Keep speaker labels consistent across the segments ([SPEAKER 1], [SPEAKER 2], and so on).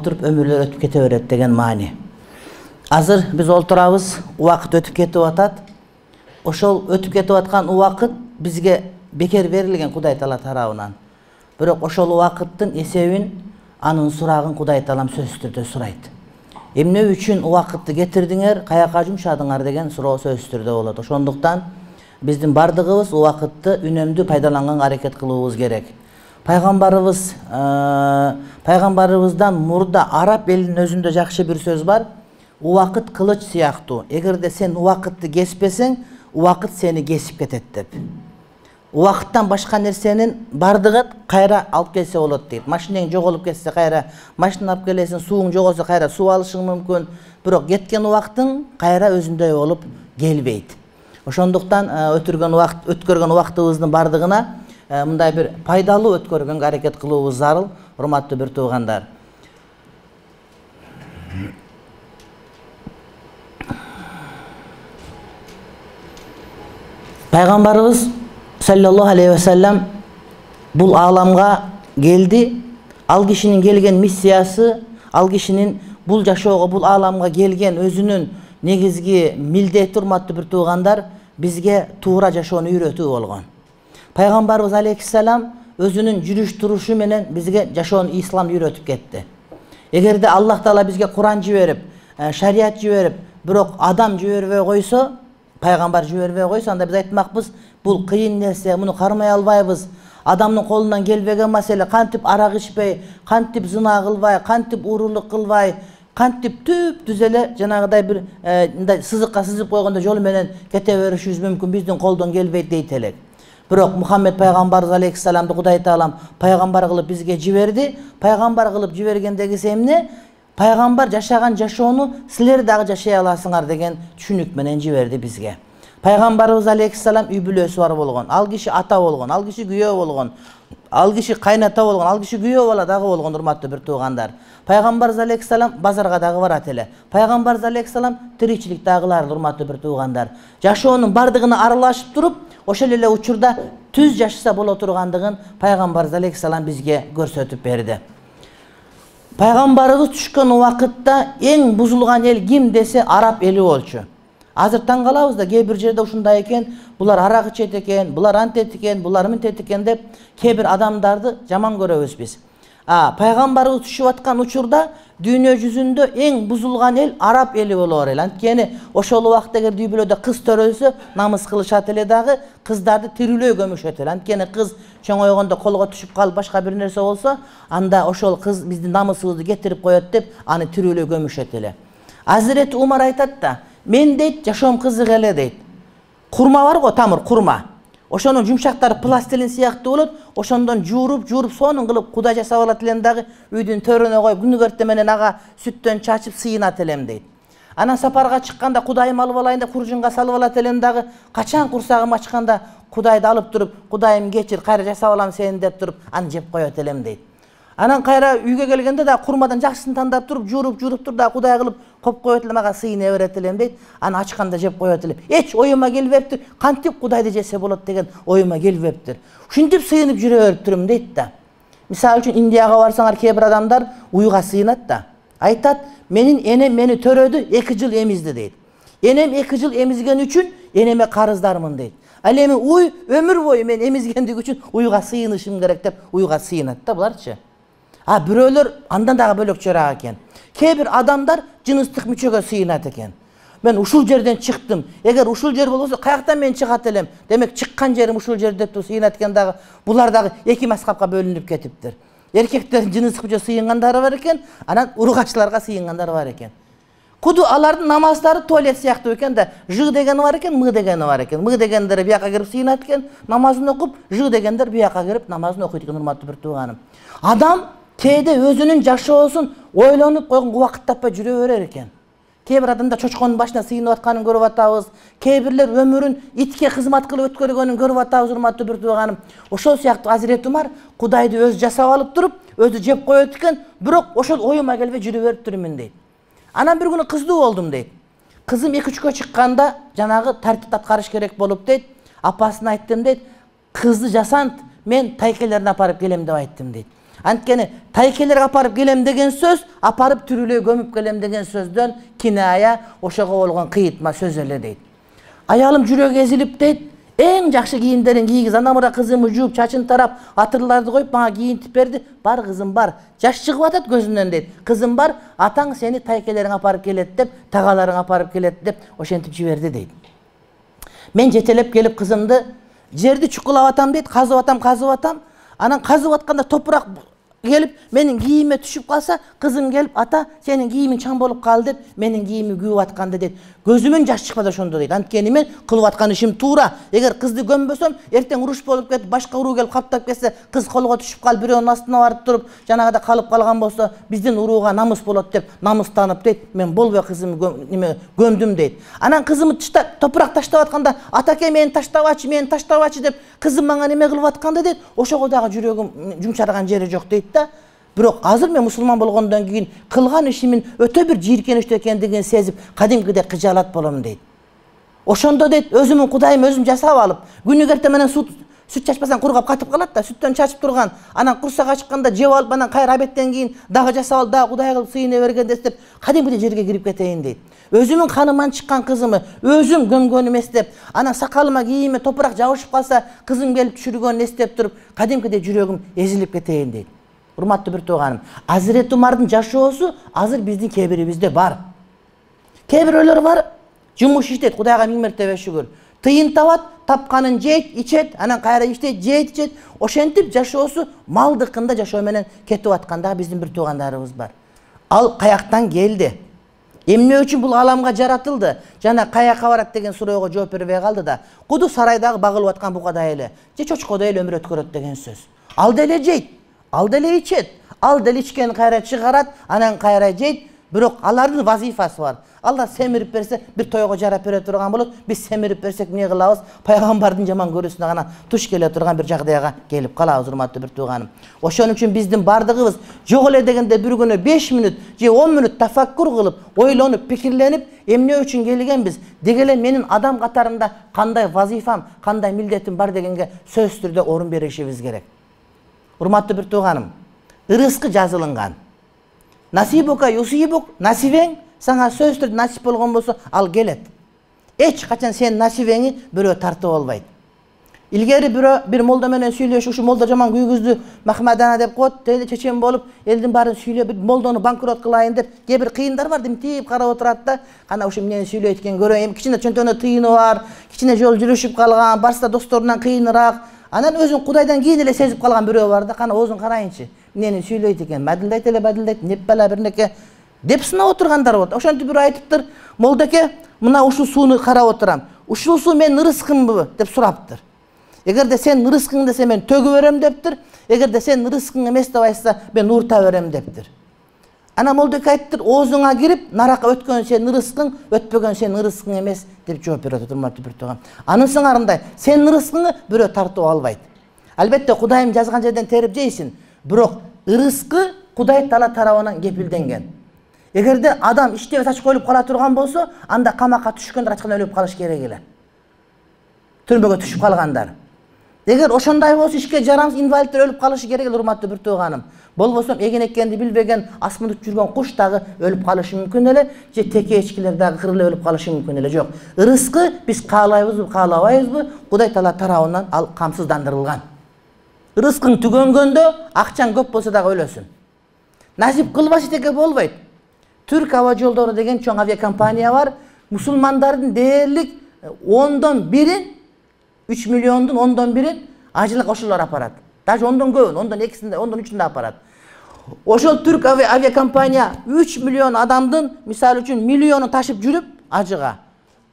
[SPEAKER 1] Oturup ömürler ötüp kete berет деген maani. Азыр биз олтурабыз, убакыт өтүп кетип атат. Ошол өтүп кетип аткан убакыт бизге бекер берилген Кудай Таала тарабынан. Бирок ошол убакыттын эсебин, анын сурагын Кудай Таалам сөзсүз түрдө сурайт. Эмне үчүн убакытты кетирдиңер, каяка жумшадыңар деген суроо сөзсүз түрдө болот. Ошондуктан биздин бардыгыбыз убакытты үнөмдүү пайдаланганга аракет кылуубуз керек. Пайгамбарыбыздан мурда араб элинин өзүндө жакшы бир сөз бар. Убакыт кылыч сыяктуу. Эгерде сен убакытты кеспесең, убакыт сени кесип кетет деп. Убакыттан башка нерсенин бардыгы кайра алып келсе болот дейт. Машинең жоголуп кетсе кайра машина алып келесиң, сууң жоголсо кайра суу алышың мүмкүн. Бирок кеткен убактың кайра өзүндөй болуп келбейт. Ошондуктан өткөргөн убактыбыздын бардыгына мындай бир пайдалуу өткөргөнгө аракет кылуубуз зарыл, урматтуу бир туугандар. Пайгамбарыбыз саллаллаху алейхи ва саллям бул ааламга келди. Ал кишинин келген миссиясы, ал кишинин бул жашоого, бул ааламга келген өзүнүн негизги милдети, урматтуу бир туугандар, бизге туура жашоону үйрөтүү болгон. Пайгамбарыбыз алейхиссалам өзүнүн жүрүш турушу менен бизге жашоону, исламды үйрөтүп кетти. Эгерде Аллах Таала бизге Куран жиберип, шарият жиберип, бирок адам жибербей койсо, пайгамбар жибербей койсо, анда биз айтмакпыз, бул кыйын нерсе, муну кармай албайбыз. Адамдын колунан келбеген маселе, кантип арак ичпей, кантип зына кылбай, кантип уурулук кылбай, кантип түз эле жанагыдай бир мындай сызыкка сызып койгондо жол менен кете беришибиз мүмкүн, биздин колдон келбейт дейт элек. Бирок Мухаммед пайгамбарыбыз алейхиссаламды Кудай Таалам пайгамбар кылып бизге жиберди. Пайгамбар кылып жибергендеги эмне? Пайгамбар жашаган жашоону силер дагы жашай аласыңар деген түшүнүк менен жиберди бизге. Пайгамбарыбыз алейхиссалам үй бүлөсү бар болгон. Ал киши ата болгон, ал киши күйөө болгон, ал киши кайната болгон, ал киши күйөө бала дагы болгон, урматтуу бир туугандар. Пайгамбарыбыз алейхиссалам базарга дагы барат эле. Пайгамбарыбыз алейхиссалам тиричилик дагылар, урматтуу бир туугандар. Жашоонун бардыгына аралашып туруп, ошол эле учурда түз жашаса боло тургандыгын Пайгамбарыбыз алейхиссалам бизге көрсөтүп берди. Пайгамбарыбыз түшкөн убакытта эң бузулган эл ким десе араб эли болчу. Азыр таң калабыз да, кээ бир жерде ушундай экен, булар арак ичет экен, булар антет экен, булар мынтет экен деп кээ бир адамдарды жаман көрөбүз биз. Пайгамбарыбыз түшүп аткан учурда дүйнө жүзүндө эң бузулган эл араб эли болор эле. Анткени ошол убакта эгер үй бүлөдө кыз төрөлсө, намыс кылышат эле дагы, кыздарды тирүүлөй көмүшөт эле. Анткени кыз чоңойгондо колго түшүп калып башка бир нерсе болсо, анда ошол кыз биздин намысыбызды кетирип коет деп аны тирүүлөй көмүшөт эле. Азирети Умар айтат да, мен дейт жашоом кызык эле дейт. Курма бар го, тамыр курма. Ошонун жумшактары пластилин сыяктуу болот, ошондон жууруп, сонун кылып Кудай жасап алат элем дагы, үйдүн төрүнө коюп, күнү эртең менен ага сүттөн чачып сыйынат элем дейт. Анан сапарга чыкканда Кудайым алып алайын деп куржунга салып алат элем дагы, качан курсагым ачканда Кудайды алып туруп, Кудайым кечир, кайра жасап алам сени деп туруп, аны жеп коет элем дейт. Анан кайра үйгө келгенде да курмадан жакшысын тандап туруп, жууруп туруп да Кудай кылып коп коет элем, ага сыйына берет элем дейт. Аны ачканда жеп коет элем. Эч оюма келбептир, кантип Кудайды жесе болот деген оюма келбептир. Ушинтип сыйынып жүрө бериптирмин дейт да. Мисалы үчүн Индияга барсаңар, кээ бир адамдар уйга сыйынат да. Айтат, менин энем мени төрөдү, 2 жыл эмизди дейт. Энем 2 жыл эмизген үчүн энеме карыздармын дейт. Ал эми уй өмүр бою мен эмизгендик үчүн уйга сыйынышым керек деп уйга сыйынат да буларчы. Бирөөлөр андан дагы бөлөкчөрөөк экен. Кээ бир адамдар жыныстык мүчөгө сыйынат экен. Мен ушул жерден чыктым. Эгер ушул жер болбосо каяктан мен чыгат элем? Демек чыккан жерим ушул жер деп сыйынат экен дагы. Булар дагы 2 маскапка бөлүнүп кетиптир. Эркектер жыныстык мүчө сыйынгандары бар экен, анан ургачларга сыйынгандары бар экен. Куду алардын намаздары туалет сыяктуу экен да, жы дегени бар экен, мы дегени бар экен. Мы дегендер бияка кирип сыйынат экен, намазын окуп, жы дегендер бияка кирип намазын окуйт экен, урматтуу бир тууганым. Адам кээде өзүнүн жашоосун ойлонуп койгон убакыт таппай жүрө берер экен. Кээ бир адамдар чочконун башына сыйынып атканын көрүп атабыз. Кээ бирлер өмүрүн итке кызмат кылып өткөргөнүн көрүп атабыз, урматтуу бир тууганым. Ошол сыяктуу Азирети Умар Кудайды өзү жасап алып туруп, өзү жеп коет экен, бирок ошол оюма келбей жүрө бериптирмин дейт. Анан бир күнү кыздуу болдум дейт. Кызым 2-3кө чыкканда жанагы тартип аткарыш керек болуп дейт. Апасына айттым дейт, кызды жасант мен тайкелерин апарып келем деп айттым дейт. Анткени тайкелерге апарып келем деген сөз, апарып түрүлөй көмүп келем деген сөздөн киная, ошого болгон кыйытма сөз эле дейт. Аялым жүрөгү ezilип дейт, эң жакшы кийимдерин кийгиз, ана мына кызымы жууп, чачын тарап, атырларды коюп мага кийинтип берди. Бар кызым бар. Жаш чыгып атат көзүнөн дейт. Кызым бар, атаң сени тайкелериң апарып келет деп, тагаларың апарып келет деп ошентип жиберди дейт. Мен жетелеп келип кызымды жерди чукулап атам дейт, казып атам. Анан казып атканда топурак келип менин кийиме түшүп калса, кызым келип, ата, сенин кийимиң чаң болуп калды деп, менин кийимим күйүп атканды дейт. Көзүмөн жаш чыкпады ошондо дейт. Анткени мен кылып аткан ишим туура. Эгер кызды көмбөсөм, эртең уруш болуп кетип, башка уруу келип каптап кетсе, кыз колго түшүп калып, бирөөнүн астына барып туруп, жанагыда калып калган болсо, биздин урууга намыс болот деп, намыстанып дейт. Мен болбой кызымды көмдүм дейт. Анан кызымды топурак таштап атканда, атаке мени таштабачы деп, кызым мага неме кылып атканды дейт. Ошого дагы жүрөгүм жумшарган жери жок дейт да. Бирок азыр мен мусулман болгондон кийин кылган ишимин өтө бир жийиркеничтүү экендигин сезип, кадимкидей кыжаалат болом дейт. Ошондо дейт, өзүмүн кудайым өзүм жасап алып, күнүгө эртең менен сүт чачпасаң кургап катып калат да, сүттөн чачып турган, анан курсак ачканда жеп алып, анан кайра абеттен кийин дагы жасап алып, дагы кудай кылып сыйына бергенде деп, кадимкидей жерге кирип кетейин дейт. Өзүмүн каныман чыккан кызымы өзүм көмгөн эмес деп, анан сакалыма кийиме топурак жабышып калса, кызым келип түшүргөнүн эстеп туруп, кадимкидей жүрөгүм ezilип кетейин дейт. Урматтуу бир тууганым, Азирети Умардын жашоосу азыр биздин кээ бирибизде бар. Кээ бирөөлөр бар, жумуш иштейт, Кудайга миң мертебе шүгүр. Тыйын табат, тапканын жейт, ичет, анан кайра иштейт, жейт, ичет. Ошентип жашоосу малдыкында жашоо менен кетип атканда биздин бир туугандарыбыз бар. Ал каяктан келди? Эмне үчүн бул аламга жаратылды? Жана каяка барат деген суроого жооп бербей калды да. Куду сарайдагы багылып аткан букадай эле, же чочкодой эле өмүр өткөрөт деген сөз. Ал деле жейт, ал деле ичет, ал деле ичкенин кайра чыгарат, анан кайра жейт. Бирок алардын вазифасы бар. Алар семирип берсе, бир тойго жарап бере турган болот. Биз семирип берсек эмне кылабыз? Пайгамбардын жаман көрүүсүнө гана туш келе турган бир жагдайга келип калабыз, урматтуу бир тууганым. Ошон үчүн биздин бардыгыбыз жок эле дегенде бир күнү 5 мүнөт же 10 мүнөт тафаккур кылып, ойлонуп, пикирленип, эмне үчүн келгенбиз? Деги эле менин адам катарында кандай вазифам, кандай милдетим бар дегенге сөзсүз түрдө орун беришибиз керек. Урматтуу бир тууганым, ырыскы жазылынган. Насибука юсибук, насибең саңа сөзсүз түрдө насип болгон болсо, ал келет. Эч качан сен насибеңи бирөө тартып албайт. Илгери бир молда менен сүйлөшүп, ушу молда жаман күйгүздү, Махмадана деп коет, деди чечен болуп, элдин баарын сүйлөп, молдону банкрот кылайын деп, кээ бир кыйындар бар, димтип карап отурат да, кана ушу эмнени сүйлөйт экен көрөйүн, кичине чөнтөнө тыйыны бар, кичине жол жүрүшүп калган, барса досторунан кыйыныраак. Анан өзүн Кудайдан кийин эле сезип калган бирөө бар да, кана оозун карайынчы. Эмнени сүйлөйт экен, мадилдайт эле мадилдайт, неп бала бирнеке деп сынап отургандар болот. Ошентип бирөө айтыптыр, молдеке, мына ушул сууну карап отурам. Ушул суу менин ырыскымбы деп сураптыр. Эгерде сен ырыскың десе мен төгүп берем дептир. Эгерде сен ырыскың эмес деп айтса, мен уурта берем дептир. Ана молдеке айттыр, оозуңа кирип, нарака өткөн сен ырыскың, өтпөгөн сен ырыскың эмес деп жооп берет, урматтуу бир тууган. Анын сыңарындай, сен ырыскыңы бирөө тартып албайт. Албетте Кудайым жазган жерден терип жейсиң, бирок ырыскы Кудай Таала тарабынан кепилденген. Эгерде адам иштебес ач коюлуп кала турган болсо, анда камакка түшкөндөр ачкан өлүп калыш керек эле. Түрмөгө түшүп калгандар. Эгер ошондой болсо ишке жарамсыз инвалидтер өлүп калышы керек эле, урматтуу бир тууганым. Болбосо эген экенди билбеген асмында жүргөн куш дагы өлүп калышы мүмкүн эле, же теке эчкилер дагы кырылып өлүп калышы мүмкүн эле. Жок, ырыскы биз каалайбызбы, каалабайбызбы, Кудай Таала тарабынан ал камсыздандырылган. Ырыскың түгөнгөндө акчаң көп болсо дагы өлөсүң. Насип кылбаш эчеке болбойт. Түрк аба жолдору деген чоң авиакомпания бар. Мусулмандардын дээрлик 1/10, 3 миллиондун 1/10 ажылык ошолор апарат. Даже 10дон көбүн, 10дон 2-синде, 10дон 3-үндө апарат. Ошол түрк авиакомпания 3 миллион адамдын, мисалы үчүн, миллионун ташып жүрүп ажыга.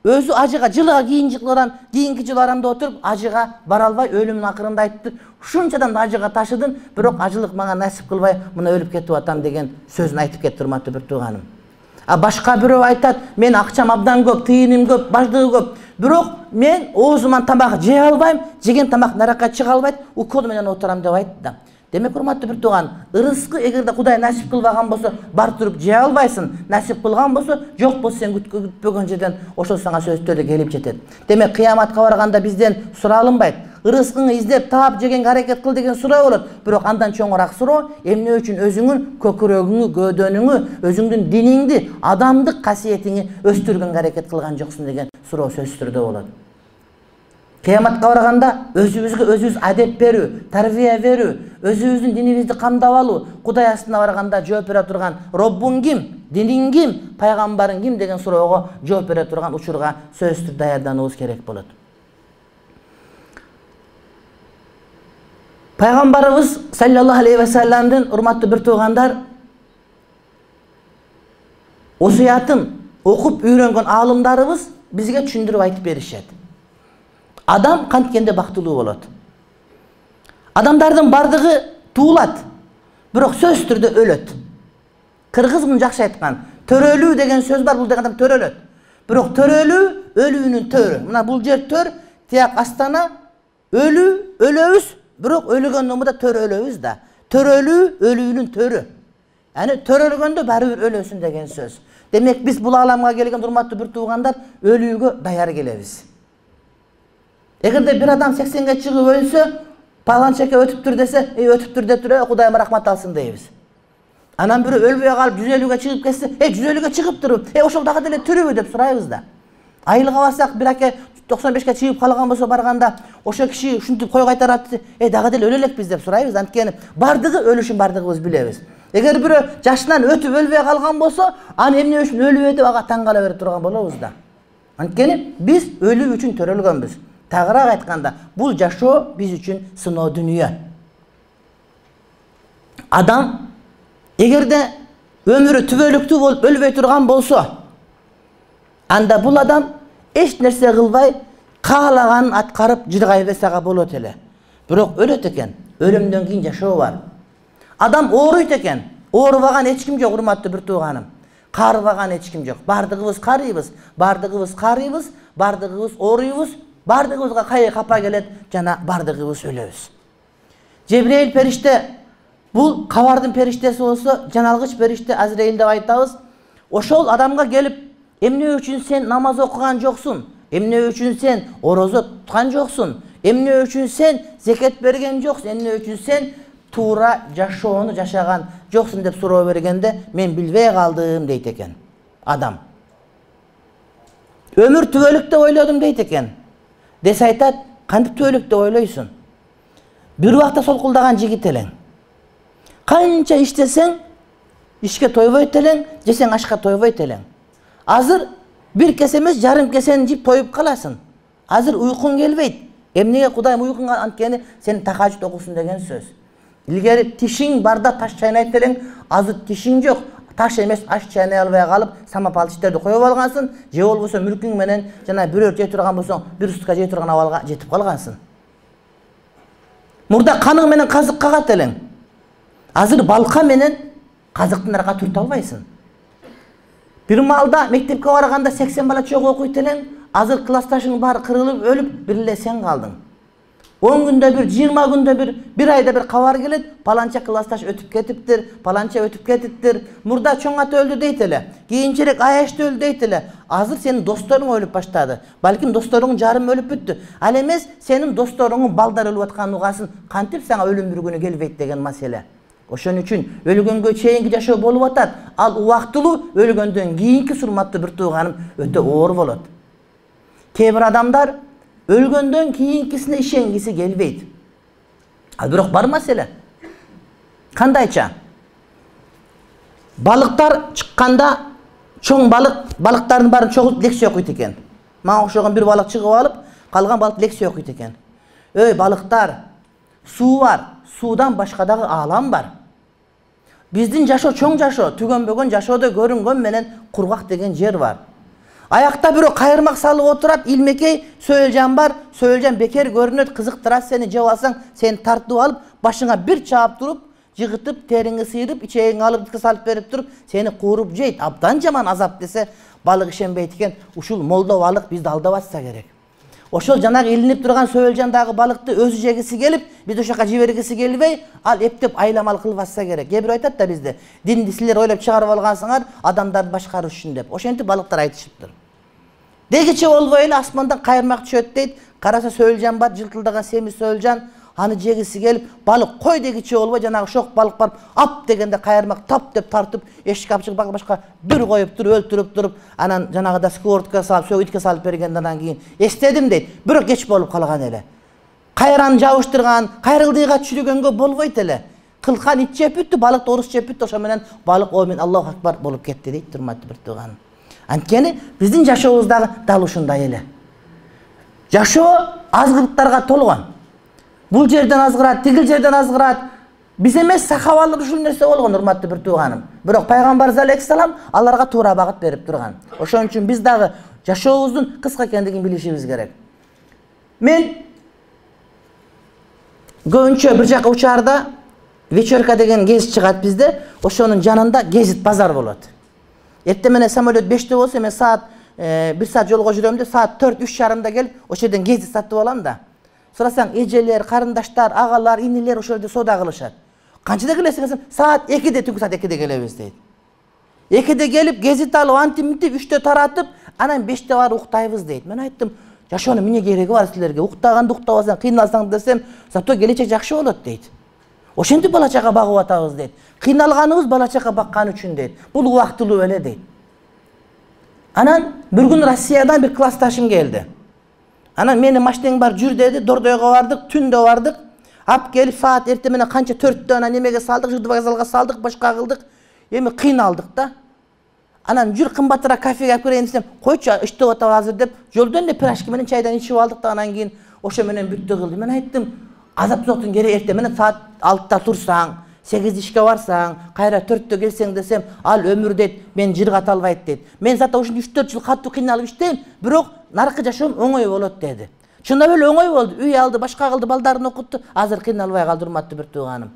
[SPEAKER 1] Өзү ажыга жылга кийинки жыл арамда отуруп ажыга бара албай өлүмүнүн акырында айтты. Ушунчадан да ажыга ташыдым, бирок ажылык мага насип кылбай, мына өлүп кетип атам деген сөзүн айтып кетти, урматтуу бир тууганым. А башка бирөө айтат, мен акчам абдан көп, тыйыным көп, баждыгы көп. Бирок мен оозуман тамак жей албайм, жеген тамак наракка чыга албайт, укол менен отурам деп айтты да. Демек, урматтуу бир тууган, ырыскы эгерде Кудай насип кылбаган болсо, бар туруп жей албайсың. Насип кылган болсо, жок болсо сен күтпөгөн жерден ошол сага сөздөр келип жетет. Демек, кыяматка барганда бизден суралынбайт. ырыскыңы издеп таап жегенге аракет кыл деген суроо болот. Бирок андан чоңураак суроо эмне үчүн өзүңүн көкүрөгүңү, гөөдөнүңү, өзүңдүн диниңди, адамдык касиетиңи өстүргөнгө аракет кылган жоксуң деген суроо сөзсүз түрдө болот. Кыяматка барганда өзүбүзгө өзүбүз адеп берүү, тарбия берүү, өзүбүздүн динибизди камдап алуу, Кудай астына барганда жооп бере турган Роббуң ким, диниң ким, пайгамбарың ким деген суроого жооп бере турган учурга сөзсүз түрдө даярдануубуз керек болот. Пайгамбарыбыз саллаллаху алейхи ва салламдын урматтуу бир туугандар осуятын окуп үйрөнгөн аалымдарыбыз бизге түшүндүрүп айтып беришет. Адам канткенде бактылуу болот. Адамдардын бардыгы туулат, бирок сөзсүз түрдө өлөт. Кыргыз муну жакшы айткан. Төрөлүү деген сөз бар, бул деген адам төрөлөт. Бирок төрөлүү өлүүнүн төрү. Мына бул жер төр, тияк астана өлүү, өлөбүз, бирок өлгөндөн мында төрөлөбүз да. Төрөлүү өлүүнүн төрү. Яны төрөлгөндө баары бир өлөсүн деген сөз. Демек биз бул ааламга келген урматтуу бир туугандар өлүүгө даяр келебиз. Эгерде бир адам 80ге чыгып өлсө, паланчака өтүптүр десе, өтүптүр деп туруп, Кудайым рахмат алсын дейбиз. Анан бирөө өлбөй калып 150ге чыгып кетсе, 150ге чыгыптыр, ошол дагы деле тирүүбү деп сурайбыз да. Айылга барсак, бир аке 95ке чыгып калган болсо барганда, ошо киши ушинтип кой кайтарат десе, дагы деле өлө элекпиз деп сурайбыз. Анткени бардыгы өлүшүн бардыгыбыз билебиз. Эгер бирөө жашынан өтүп өлбөй калган болсо, аны эмне үчүн өлүп деп ага таң кала берип турган болобуз да. Анткени биз өлүү үчүн төрөлгөнбүз. Тагыраак айтканда, бул жашоо биз үчүн сыноо дүнүйө. Адам эгерде өмүрү түбөлүктүү болуп өлбөй турган болсо, анда бул адам эч нерсе кылбай, каалаганын аткарып жыргай берсе болот эле. Бирок өлөт экен. Өлүмдөн кийин жашоо бар. Адам ооруйт экен. Оорубаган эч ким жок, урматтуу бир тууганым. Карыбаган эч ким жок. Бардыгыбыз карыйбыз, бардыгыбыз карыйбыз, бардыгыбыз ооруйбуз, бардыгыбызга кайы капа келет, жана бардыгыбыз өлөбүз. Жебрейил периште, бул кабардын периштеси болсо, жаналгыч периште Азраил деп айтабыз. Ошол адамга келип, эмне үчүн сен намаз окуган жоксуң? Эмне үчүн сен орозо туткан жоксуң? Эмне үчүн сен зекет берген жоксуң? Эмне үчүн сен туура жашоону жашаган жоксуң деп суроо бергенде, мен билбей калдым дейт экен адам. Өмүр түбөлүк деп ойлодум дейт экен. Десе айтат, кантип түбөлүк деп ойлойсуң? Бир убакта солкулдаган жигит элең. Канча иштесең, ишке тойбойт элең, жесең ашка тойбойт элең. Азыр бир кесе эмес, жарым кесени жеп тоюп каласың. Азыр уйкуң келбейт. Эмнеге Кудайым уйкуңа анткени сен тахажжуд окусуң деген сөз. Илгери тишиң барда таш чайнайт элең, азыр тишиң жок. Таш эмес, аш чайнай албай калып, самопалчтарды коюп алгансың, же болбосо мүлкүң менен жана бирөө жей турган болсоң, бир сутка жей турган абалга жетип калгансың. Мурда каның менен казык кагат элең. Азыр балка менен казыктын арка түртө албайсың. Бир маалда мектепке барганда 80 бала чогуу окуйт элең, азыр классташың баары кырылып өлүп, бир эле сен калдың. 10 күндө бир, 20 күндө бир айда бир кабар келет, паланча классташ өтүп кетиптир, паланча өтүп кетиптир. Мурда чоң ата өлдү дейт эле, кийинчерээк Аяшты өлдү дейт эле. Азыр сенин досторуң өлүп баштады. Балким досторуңдун жарымы өлүп бүттү. Ал эмес, сенин досторуңдун балдары өлүп атканын угасың, кантип сага өлүм бир күнү келбейт деген маселе. Ошон үчүн өлгөнгө чейинки жашоо болуп атат. Ал убактылуу, өлгөндөн кийинки урматтуу бир тууганым өтө оор болот. Кээ бир адамдар өлгөндөн кийинкисине ишенгиси келбейт. Ал бирок бар маселе. Кандайча? Балыктар чыкканда чоң балыктардын баарын чогултуп лекция окуйт экен. Мага окшогон бир балык чыгып алып, калган балык лекция окуйт экен. Эй балыктар, суу бар, суудан башка дагы аалам бар. Биздин жашоо чоң жашоо, түгөнбөгөн жашоодо көрүнгөн менен кургак деген жер бар. Аякта бирөө кайырмак салып отурат, илмекей сөөлжан бар, сөөлжан бекер көрүнөт, кызыктырат сени, жеп алсаң, сени тартып алып, башыңа бир чаап туруп, жыгытып, териңи сыйрып, ичегиңи алып салып берип туруп, сени кууруп жейт. Абдан жаман азап десе, балык ишенбейт экен, ушул молдо балык бизди алдап атса керек. Ошол жанагы илинип турган сөөлжандагы балыкты өзү жегиси келип, биз ошока жибергиси келбей, ал эптеп айламал кылып атса керек. Кээ бирөө айтат да бизде, динди силер ойлоп чыгарып алгансыңар, адамдарды башкарыш үчүн деп. Ошентип балыктар айтышыптыр. Дегиче болбой эле асмандан кайырмак түшөт дейт, Караса Сөөлжан бар, жылтылдаган семиз Сөөлжан, аны жегиси келип, балык кой дегиче болбой, жанагы шок балык барып, ап дегенде кайырмак тап деп тартып, эшикке алып чыгып башка дүр коюп туруп, өлтүрүп туруп, анан жанагыда сковородко салып, сөйүткө салып бергенден кийин эстедим дейт. Бирок кеч болуп калган эле. Кайраны жабыштырган, кайрылдыйга чүрүгөнгө болбойт эле. Кылкан ит жеп бүттү, балык орус жеп бүттү, ошо менен балык омен Аллаху акбар болуп кетти дейт, урматтуу бир тууганым. Анткени биздин жашообуздагы дал ушундай эле. Жашоо азгылыктарга толгон. Бул жерден азгырат, тигил жерден азгырат. Биз эмес сахабалар ушул нерсе болгон, урматтуу бир тууганым. Бирок пайгамбарыбыз алейхиссалам аларга туура багыт берип турган. Ошон үчүн биз дагы жашообуздун кыска экендигин билишибиз керек. Мен көбүнчө бир жака учаарда вечерка деген гезит чыгат бизде, ошонун жанында гезит базар болот. Эртең менен самолет 5-те болсо, мен саат 1 саат жолго жүрөм деп, саат 4-3:30 келип, ошол жерден гезит сатып алам да. Сурасаң, эжелер, карындаштар, агалар, инилер ошол жерде соода кылышат. Канчада келесиң десем, саат 2-де, түнкү саат 2-де келебиз дейт. 2-де келип, гезит алып, антип, 3-те таратып, анан 5-те барып уктайбыз дейт. Мен айттым, жашоонун эмне кереги бар силерге? Уктаганды уктабасаң, кыйналсаң десем, зато келечек жакшы болот дейт. Ошентип бала чага багып атабыз дейт. Кыйналганыбыз бала чага баккан үчүн дейт. Бул убактылуу эле дейт. Анан бир күн Россиядан бир классташым келди. Анан мени машинең бар, жүр деди, Дордойго бардык, түндө бардык. Ап келип саат эртең менен канча 4-тө анан немеге салдык, жырды вокзалга салдык, башка кылдык. Эми кыйналдык да. Анан жүр кымбатыраак кафеге алып келейин десем, койчу, иштеп атабы азыр деп, жолдон эле пирожки менен чайдан ичип алдык да, анан кийин ошо менен бүттү кылды. Мен айттым, азап-соктун кереги эртең менен саат 6-та турсаң, 8 ишке барсаң, кайра 4-тө келсең десем, ал өмүр дейт, мен жыргата албайт дейт. Мен зато ушундай 3-4 жыл катуу кыйналып иштейм, бирок наркы жашоом оңой болот деди. Чындап эле оңой болду. Үй алды, башка кылды, балдарын окутту. Азыр кыйналбай калды, урматтуу бир тууганым.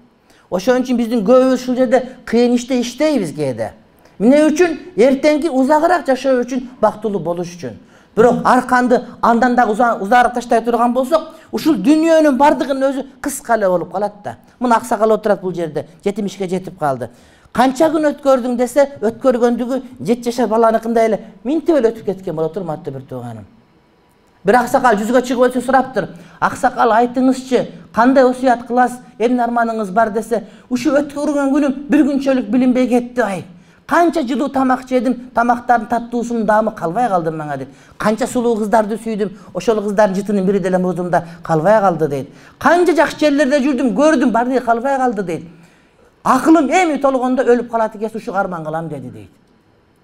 [SPEAKER 1] Ошон үчүн биздин көбүбүз ушул жерде кыйын иште иштейбиз кээде. Эмне үчүн? Эртеңки узагыраак жашоо үчүн, бактылуу болуш үчүн. Бирок арканды андан да узаарак таштай турган болсок, ушул дүйнөнүн бардыгынын өзү кыска эле болуп калат да. Мына аксакал отурат бул жерде, 70 жетип калды. Канча күн өткөрдүң десе, өткөргөндүгү 7 жашар баланыкындай эле минтип эле өтүп кеткен болот, урматтуу бир тууганым. Бир аксакал жүзгө чыгып өтсө сураптыр. Аксакал, айтыңызчы, кандай осуят кыласыз, эмне арманыңыз бар десе, ушу өткөргөн күнүм бир күнчөлүк билинбей кетти ай. Канча жылуу тамак жедим, тамактардын таттуусунун даамы калбай калды мага дейт. Канча сулуу кыздарды сүйдүм, ошол кыздардын жытынын бири деле мурдумда калбай калды дейт. Канча жакшы жерлерде жүрдүм, көрдүм, бардыгы калбай калды дейт. Акылым эми толгондо өлүп калат экен, ушу арман кылам деди дейт.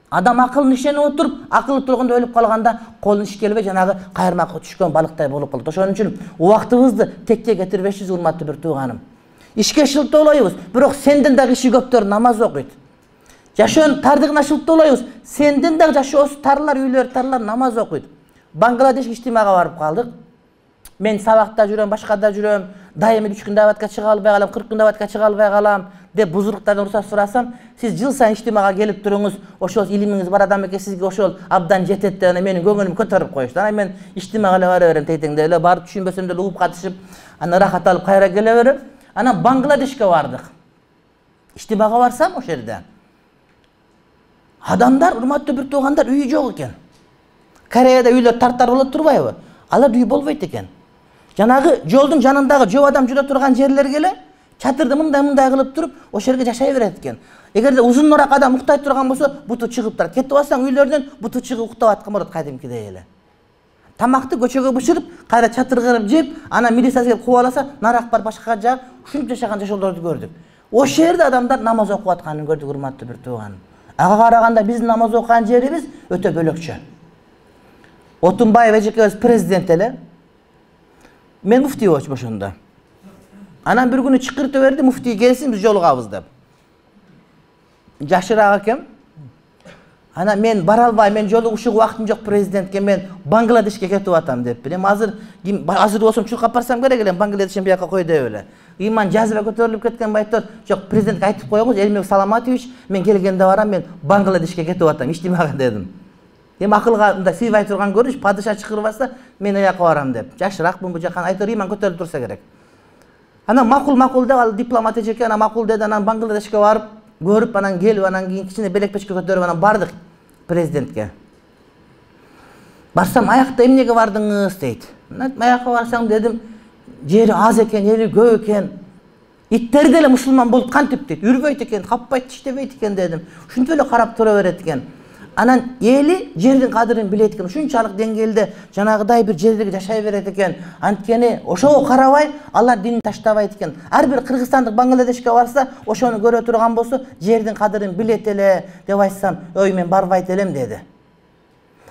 [SPEAKER 1] Адам акылын ишенип отуруп, акылы толгондо өлүп калганда колун иш келбей жанагы кайырмакка түшкөн балыктай болуп калат. Ошон үчүн убактыбызды текке кетирбешиз, урматтуу бир тууганым. Ишке шылтоолойбуз, бирок сенден дагы иши көптөр намаз окуйт. Жашоонун тардыгына шылтоолойбуз, сенден дагы жашоосу тарлар, үйлөр тарлар намаз окуйт. Бангладеш иштимага барып калдык. Мен сабакта жүрөм, башкада жүрөм, дайыма 3 күн дабатка чыга албай калам, 40 күн дабатка чыга албай калам деп бузуруктардан уруксат сурасам, сиз жыл сайын иштимага келип туруңуз, ошол илимиңиз бар адам экен, сизге ошол абдан жетет деп менин көңүлүм көтөрүп коюшту. Анан мен иштимага эле бара берем, тетеңде эле барып түшүнбөсөм деле угуп катышып, анан рахат алып кайра келе берем. Анан Бангладешке бардык. Иштимага барсам ошол жерде адамдар, урматтуу бир туугандар, үйү жок экен. Кореяда үйлөр тартар болот турбайбы? Алар үй болбойт экен. Жанагы жолдун жанындагы жөө адам жүрө турган жерлерге эле чатырды мындай кылып туруп, ошол жерге жашай берет экен. Эгерде узунураак адам уктай турган болсо, буту чыгып турат. Кетип алсаң үйлөрдөн буту чыгып уктап аткан болот кадимкидей эле. Тамакты көчөгө бышырып, кайра чатыр кырып жеп, анан милиция келип кууп алса, нарак бар башка жак, ушинтип жашаган жашоолорду көрдүк. Ошол жерде адамдар намаз окуп атканын көрдүк, урматтуу бир тууганым. Ага караганда биздин намаз окуган жерибиз өтө бөлөкчө. Отунбаев эжекебиз президент эле. Мен муфтий болчумун ошондо. Анан бир күнү чакыртып берди, муфтий келсин, биз жолугабыз деп. Жашыраак экем. Анан мен бара албайм, мен жолугушууга убактым жок президентке, мен Бангладешке кетип атам деппин. Эми азыр болсом чуркап барсам керек эле, Бангладештен бияка кой деп эле. Иман жазба көтөрүлүп кеткен байтор, жок, президентке айтып коюңуз, Элмек Саламатович, мен келгенде барам, мен Бангладешке кетип атам, иштимага дедим. Эми акылга мындай сыйбай турган көрүнүш, падыша чакырбаса, мен аяка барам деп. Жашыраакмын бу жакан, айтор иман көтөрүлүп турса керек. Анан макул деп, ал дипломат эжеке, анан макул деди, анан Бангладешке барып, көрүп, анан келип, анан кийин кичине белек-печке көтөрүп, анан бардык президентке. Барсам, аякта эмнеге бардыңыз дейт. Аяққа барсаң дедім, жері аз екен, ели көп екен. Иттер деле мусулман болуп кантип дейт, үрбөйт экен, каппайт, тиштебейт экен дедим. Ушинтип эле карап тура берет экен. Анан эли жердин кадырын билет экен. Ушунчалык деңгээлде жанагыдай бир жерде жашай берет экен. Анткени ошого карабай алар динин таштабайт экен. Ар бир кыргызстандык Бангладешке барса, ошону көрө турган болсо, жердин кадырын билет эле деп айтсам, ой мен барбайт элем деди.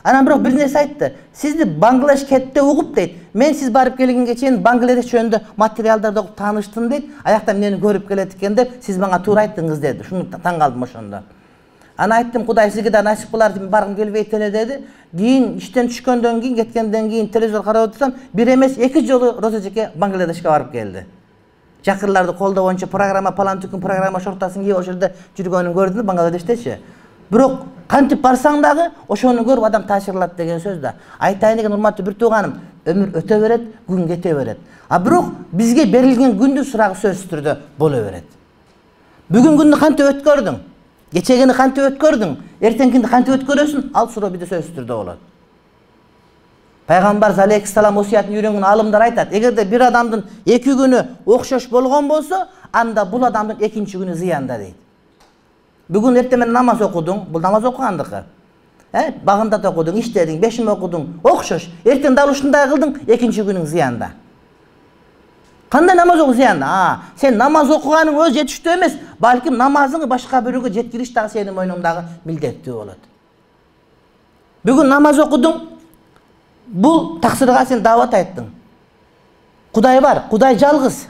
[SPEAKER 1] Анан бирок бир нерсе айтты. Сизди Бангладеш кетте угуп дейт. Мен сиз барып келгенге чейин Бангладеш жөнүндө материалдарды угуп тааныштым дейт. Аякта мени көрүп келет экен деп, сиз мага туура айттыңыз деди. Шуну таң калдым ошондо. Ана айттым, Кудай сизге да насип кылар деп баргым келбейт эле деди. Кийин иштен түшкөндөн кийин, кеткенден кийин телевизор карап отурсам, бир эмес 2 жолу Роза эжеке Бангладешке барып келди. Жакырларды колдоо боюнча программа, палантүкүн программа шортасын кийип ошол жерде жүргөнүн көрдүм Бангладештечи. Бирок кантип барсаң дагы ошону көрүп адам таасирланат деген сөз да. Айтайын деген урматтуу бир тууганым, өмүр өтө берет, күн кете берет. А бирок бизге берилген күндүн сурагы сөзсүз түрдө боло берет. Бүгүн күндү кантип өткөрдүң? Кечегени кантип өткөрдүң? Эртеңкинди кантип өткөрөсүң? Ал суроо бизде сөзсүз түрдө болот. Пайгамбар алейхиссалам осуятын үйрөнгөн алымдар айтат, эгерде бир адамдын 2 күнү окшош болгон болсо, анда бул адамдын 2-нчи күнү зыянда дейт. Бүгүн эртең менен намаз окудуң, бул намаз окугандыкы. Багында да окудуң, иштедиң, 5 окудуң, окшош. Эртең дал ушундай кылдың, 2-нчи күнүң зыянда. Кандай намаз окуу зыянда? Сен намаз окуганың өз жетиштүү эмес, балким намазыңды башка бирөөгө жеткириш дагы сенин мойнуңдагы милдеттүү болот. Бүгүн намаз окудуң, бул таксырга сен даават айттың. Кудай бар, Кудай жалгыз.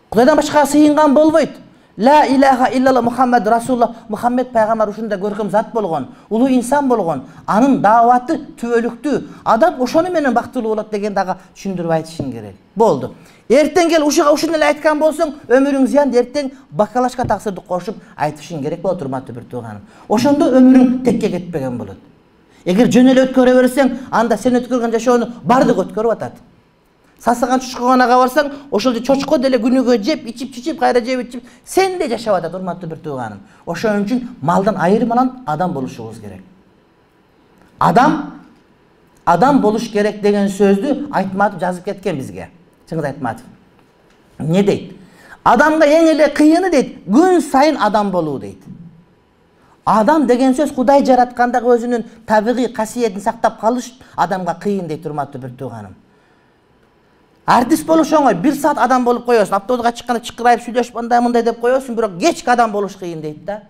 [SPEAKER 1] Кудайдан башка сыйынган болбойт. Ла илаха иллалла Мухаммад Расулуллах, Мухаммед пайгамбар ушундай көркөм зат болгон, улуу инсан болгон, анын дааваты түбөлүктүү. Адам ошону менен бактылуу болот деген дагы түшүндүрүп айтышың керек. Болду. Эртең кел ушуну эле айткан болсоң, өмүрүң зыян, эртең бакалашка таксырды кошуп айтышың керек болот, урматтуу бир тууганым. Ошондо өмүрүң текке кетпеген болот. Эгер жөн эле өткөрө берсең, анда сен өткөргөн жашоону бардык өткөрүп атат. Сасыган чучкуганага барсаң, ошол чочко деле күнүгө жеп, ичип, кайра жеп, ичип, сен де жашап атат, урматтуу бир тууганым. Ошон үчүн малдан айырмаланып адам болушубуз керек. Адам болуш керек деген сөздү Айтматов жазып кеткен бизге. Чыңгыз Айтматов. Не дейт? Адамга эң эле кыйыны дейт, күн сайын адам болуу дейт. Адам деген сөз Кудай жараткандагы өзүнүн табигый касиетин сактап калыш адамга кыйын дейт, урматтуу бир тууганым. Артист болуш оңой, 1 саат адам болуп коесуң, автобуска чыкканда чыкырайып сүйлөшүп мындай деп коесуң, бирок кечки адам болуш кыйын дейт да.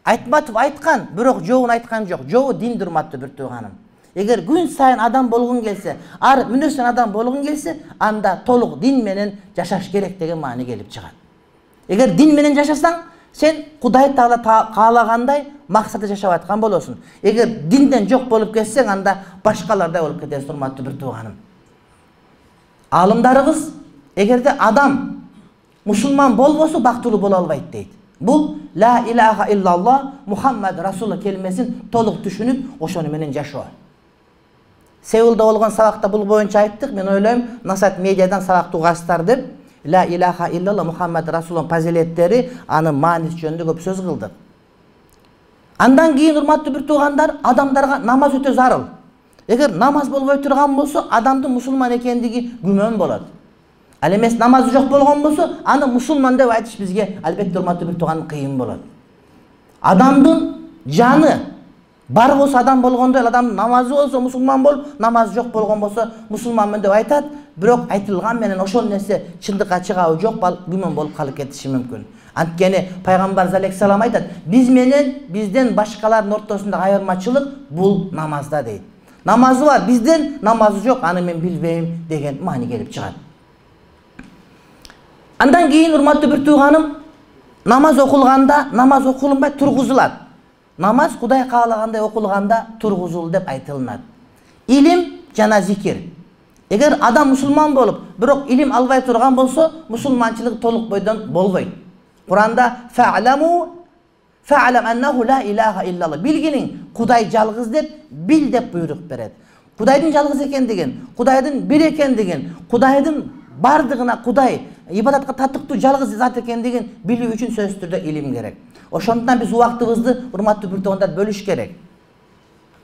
[SPEAKER 1] Айтматов айткан, бирок жообун айткан жок. Жообу дин, урматтуу бир тууганым. Эгер күн сайын адам болгуң келсе, ар мүнөздөн адам болгуң келсе, анда толук дин менен жашаш керек деген маани келип чыгат. Эгер дин менен жашасаң, сен Кудай Таала каалагандай максатты жашап аткан болосуң. Эгер динден жок болуп кетсең, анда башкалардай болуп кетесиң, урматтуу бир тууганым. Алымдарыбыз, эгерде адам мусулман болбосо бактылуу боло албайт дейт. Бул ла илаха иллаллах Мухаммад Расулуллах келмесин толук түшүнүп, ошону менен жашоо. Сеулда болгон сабакта бул боюнча айттык. Мен ойлойм, Насат медиадан сабак угасыздар деп, ла илаха иллаллах Мухаммад Расулуллах фазилеттери, анын мааниси жөнүндө көп сөз кылдык. Андан кийин, урматтуу бир туугандар, адамдарга намаз өтө зарыл. Эгер намаз болбой турган болсо, адамдын мусулман экендиги күмөн болот. Ал эмес намазы жок болгон болсо, аны мусулман деп айтыш бизге албетте, урматтуу бир тууганым, кыйын болот. Адамдын жаны бар болсо адам болгондой, адамдын намазы болсо мусулман болуп, намазы жок болгон болсо мусулманмын деп айтат. Бирок айтылган менен ошол нерсе чындыкка чыгабы жок, күмөн болуп калып кетиши мүмкүн. Анткени пайгамбар алейхиссалам айтат, биз менен бизден башкалардын ортосунда айырмачылык бул намазда дейт. Намазы бар, бизден намазы жок, аны мен билбейм деген маани келип чыгат. Андан кийин, урматтуу бир тууганым, намаз окулганда намаз окулунбай тургузулат. Намаз Кудай каалагандай окулганда тургузул деп айтылынат. Илим жана зикир. Эгер адам мусулман болуп, бирок илим албай турган болсо, мусулманчылык толук бойдон болбойт. Куранда фа'лам аннаху ла илаха иллаллах. Билгиниң, Кудай жалгыз деп, бил деп буйрук берет. Кудайдын жалгыз экендигин, Кудайдын бир экендигин, Кудайдын бардыгына Кудай ибадатка татыктуу жалгыз зат экендигин билүү үчүн сөзсүз түрдө илим керек. Ошондуктан биз убактыбызды, урматтуу бир туугандар, бөлүш керек.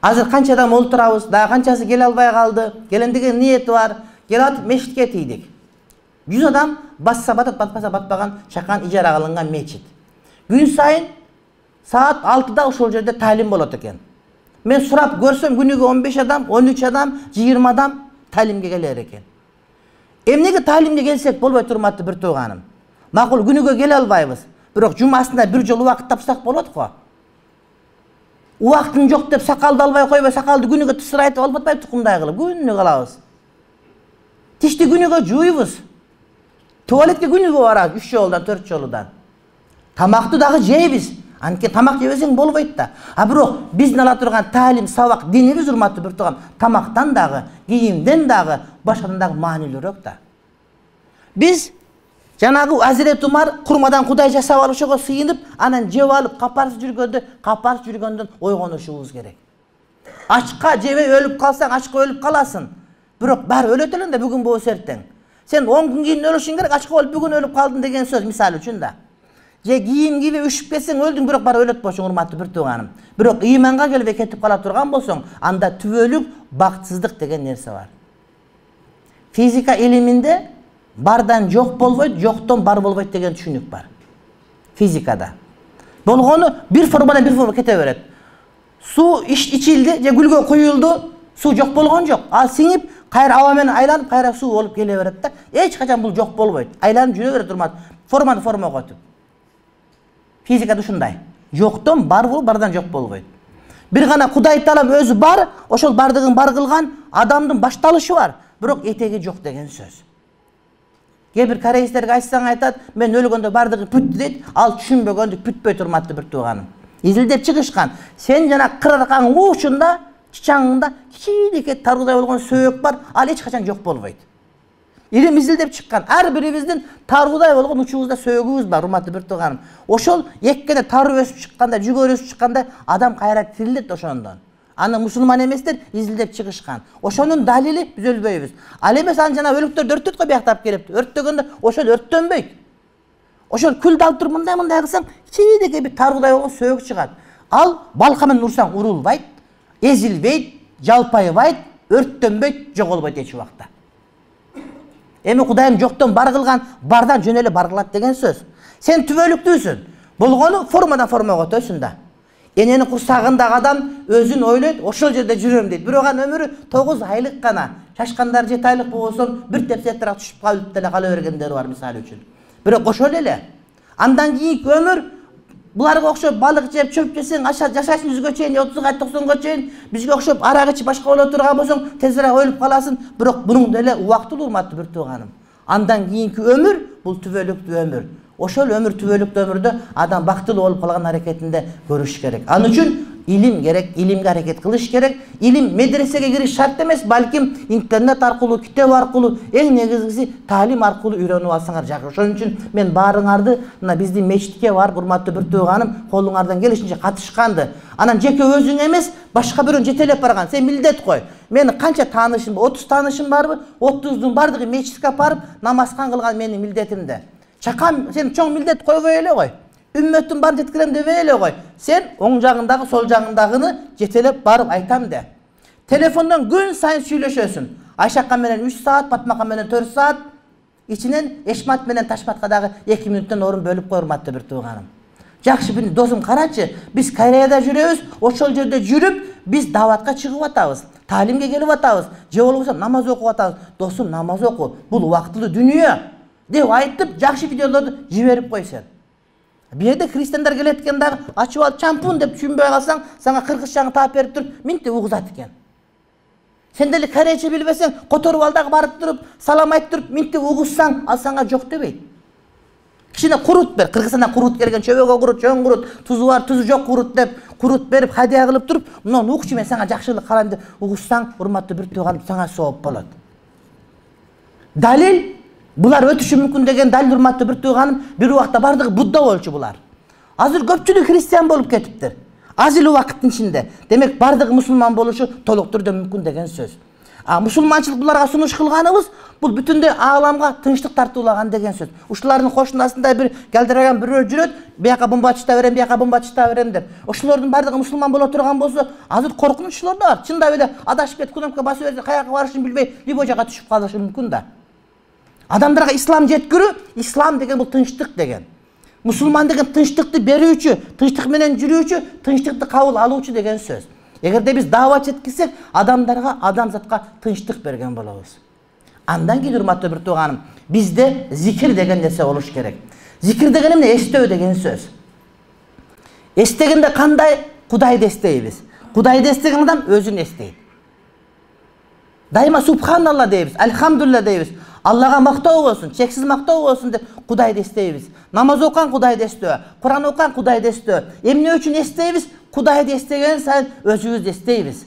[SPEAKER 1] Азыр канча адам олтурабыз, дагы канчасы келе албай калды. Келем деген ниети бар. Келип атып мешитке тийдик. 100 адам басса батат, батпаса батпаган чакан ижара кылынган мечит. Күн сайын саат 6-да ошол жерде талим болот экен. Мен сурап көрсөм күнүгө 15 адам, 13 адам, 20 адам талимге келер экен. Эмнеге талимге келсек болбой турматты бир тууганым. Макул күнүгө келе албайбыз. Бирок жумасында бир жолу убакыт тапсак болот го. Убактың жок деп сакалды албай койбой, сакалды күнүгө тысырайтып алып атпайбы тукумдай кылып, күнүгө калабыз. Тишти күнүгө жууйбуз. Туалетке күнүгө барабыз 3 жолудан, 4 жолудан. Тамакты дагы жейбиз. Анткени тамак жебесең болбойт да. А бирок биздин ала турган талим, сабак, динибиз урматтуу бир тууган, тамактан дагы, кийимден дагы, башкадан дагы маанилүүрөөк да. Биз жанагы Азирет Умар курмадан кудай жасап алып ошого сыйынып, анан жеп алып капарсыз жүргөндөн ойгонушубуз керек. Ачка жебей өлүп калсаң, ачка өлүп каласың. Бирок баары өлөт элең да бүгүн болбосо эртең. Сен 10 күн кийин өлүшүң керек, ачка болуп бүгүн өлүп калдың деген сөз мисалы үчүн да. Же кийим кийбей үшүп кетсең өлдүң, бирок баары өлөт болчуң урматтуу бир тууганым. Бирок ыйманга келбей кетип кала турган болсоң, анда түбөлүк бактсыздык деген нерсе бар. Физика илиминде бардан жок болбойт, жоктон бар болбойт деген түшүнүк бар. Физикада. Болгону бир формадан бир форма кете берет. Суу ичилди, же гүлгө куюлду, суу жок болгон жок. Ал сиңип, кайра аба менен айланып, кайра суу болуп келе берет да. Эч качан бул жок болбойт. Айланып жүрө берет урмат. Форманы формага өтүп. Физикада ушундай. Жоктон бар болуп, бардан жок болбойт. Бир гана Кудай таалам өзү бар, ошол бардыгын бар кылган адамдын башталышы бар, бирок этеги жок деген сөз. Кээ бир корейстерге айтсаң айтат, мен өлгөндө бардыгы бүттү дейт, ал түшүнбөгөндүк бүтпөйт урматтуу бир тууганым. Изилдеп чыгышкан. Сен жана кырарканын уучунда, чичаңында кичинекей таргыдай болгон сөөк бар, ал эч качан жок болбойт. Илим изилдеп чыккан. Ар бирибиздин таргыдай болгон учубузда сөөгүбүз бар, урматтуу бир тууганым. Ошол эккене тарып өсүп чыкканда, жүгөр өсүп чыкканда адам кайра тирилет ошондон. Аны мусулман эместер изилдеп чыгышкан. Ошонун далили биз өлбөйбүз. Ал эмес аны жана өлүктөрдү өрттөт го бияктап келип, өрттөгөндө ошол өрттөнбөйт. Ошол күлдү алып туруп мындай кылсаң, кичинекей бир таргыдай болгон сөөк чыгат. Ал балка менен урсаң урулбайт, эзилбейт, жалпайбайт, өрттөнбөйт, жоголбойт эч убакта. Эми Кудайым жоктон бар кылган, бардан жөн эле бар кылат деген сөз. Сен түбөлүктүүсүң. Болгону формадан формага өтөсүң да. Энени курсагындагы адам өзүн ойлойт, ошол жерде жүрөм дейт. Бирок анын өмүрү 9 айлык гана. Чачкандар 7 айлык болсо, бир тепсетирак түшүп калып деле кала бергендер бар мисалы үчүн. Бирок ошол эле. Андан кийинки өмүр буларга окшоп балык жеп, чөп жесең, жашайсың 100гө чейин, 30га, 90га чейин, бизге окшоп арак ичип башка боло турган болсоң, тезирээк өлүп каласың. Бирок бунун деле убактылуу урматтуу бир тууганым. Андан кийинки өмүр бул түбөлүктүү өмүр. Ошол өмүр түбөлүктүү өмүрдө адам бактылуу болуп калган аракетинде көрүш керек. Анын үчүн илим керек, илимге аракет кылыш керек. Илим медресеге кириш шарт эмес, балким интернет аркылуу, китеп аркылуу, эң негизгиси талим аркылуу үйрөнүп алсаңар жакшы. Ошон үчүн мен баарыңарды мына биздин мечитке барып, урматтуу бир тууганым, колуңардан келишинче катышканды. Анан жеке өзүң эмес, башка бирөөнү жетелеп барган. Сен милдет кой. Менин канча таанышым, 30 таанышым барбы? 30дун бардыгы мечитке барып, намазкан кылган менин милдетимде. Чакан сен чоң милдет койбой эле кой. Үммөттүн баарын жеткирем дебей эле кой. Сен оң жагындагы, сол жагындагыны жетелеп барып айтам де. Телефондон күн сайын сүйлөшөсүң. Айшакка менен 3 саат, Патмака менен 4 саат, ичинен Эшмат менен Ташматка дагы 2 мүнөттөн орун бөлүп кой, урматтуу бир тууганым. Жакшы бир досум карачы, биз Кореяда жүрөбүз, ошол жерде жүрүп, биз даватка чыгып атабыз, таалимге келип атабыз, же болбосо намаз окуп атабыз. Досум, намаз оку, бул убактылуу дүнүйө деп айтып, жакшы видеолорду жиберип кой сен. Бу жерде христиандар келет экен дагы, ачып алып чампун деп түшүнбөй калсаң, сага кыргызчаны таап берип туруп, минтип угузат экен. Сен деле корейче билбесең, которуп ал дагы барып туруп, салам айтып туруп, минтип угузсаң, ал сага жок дебейт. Кичине курут бер, Кыргызстандан курут келген, чөбөгө курут, чоң курут, тузу бар, тузу жок курут деп, курут берип, хадия кылып туруп, мына укчу мен сага жакшылык кылам деп угузсаң, урматтуу бир тууганым, сага сооп болот. Далил булар өтүшү мүмкүн деген далил, урматтуу бир тууганым, бир убакта бардыгы Будда болчу булар. Азыр көпчүлүк христиан болуп кетиптир. Аз эле убакыттын ичинде. Демек бардыгы мусулман болушу толук түрдө мүмкүн деген сөз. Мусулманчылык буларга сунуш кылганыбыз бул бүтүндөй ааламга тынчтык тартуулаган деген сөз. Ушулардын кошунасында бир галдыраган бирөө жүрөт, бияка бомба чыта берем, бияка бомба чыта берем деп. Ошолордун бардыгы мусулман боло турган болсо, азыр коркунуччулар да бар. Чындап эле адашып кетип кнопка басып берсе, каяка барышын билбей, любой жака түшүп калышы мүмкүн да. Адамдарга ислам жеткирүү, ислам деген бул тынчтык деген. Мусулман деген тынчтыкты берүүчү, тынчтык менен жүрүүчү, тынчтыкты кабыл алуучу деген сөз. Эгерде биз даават жеткирсек, адамдарга, адамзатка тынчтык берген болобуз. Андан кийин урматтуу бир тууганым, бизде зикир деген нерсе болуш керек. Зикир деген эмне? Эстөө деген сөз. Эстегенде кандай? Кудайды эстейбиз. Кудайды эстеген адам өзүн эстейт. Дайыма субханалла дейбиз, альхамдулилла дейбиз. Аллага мактоо болсун, чексиз мактоо болсун деп Кудайды эстейбиз. Намаз окуган Кудайды эстөө, Куран окуган Кудайды эстөө. Эмне үчүн эстейбиз? Кудайды эстеген сайын өзүбүздү эстейбиз.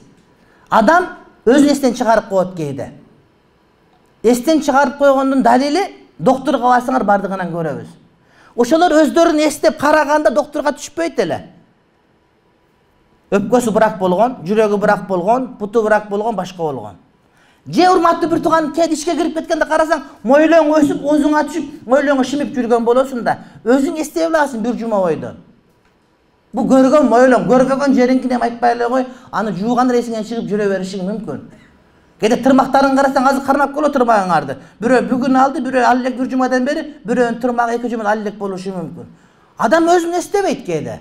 [SPEAKER 1] Адам өзүн эстен чыгарып коет кейде. Эстен чыгарып койгондун далили доктурга барсаңар бардыгынан көрөбүз. Ошолор өздөрүн эстеп караганда доктурга түшпөйт эле. Өпкөсү бырак болгон, жүрөгү бырак болгон, буту бырак болгон, башка болгон. Же урматтуу бир тууган кет ишке кирип кеткенде карасаң, мойлоң өсүп, оозуңа түшүп, мойлоңу шимип жүргөн болосуң да, өзүң эстей аласың бир жума бойдон. Бу көргөн мойлоң, көргөн жериңкине айтпай эле кой, аны жууганда эсиңен чыгып жүрө беришиң мүмкүн. Кээде тырмактарын карасаң, азыр кармап көрө тырмагыңарды. Бирөө бүгүн алды, бирөө ал элек бир жумадан бери, бирөөнүн тырмагы 2 жумада ал элек болушу мүмкүн. Адам өзүн эстебейт кээде.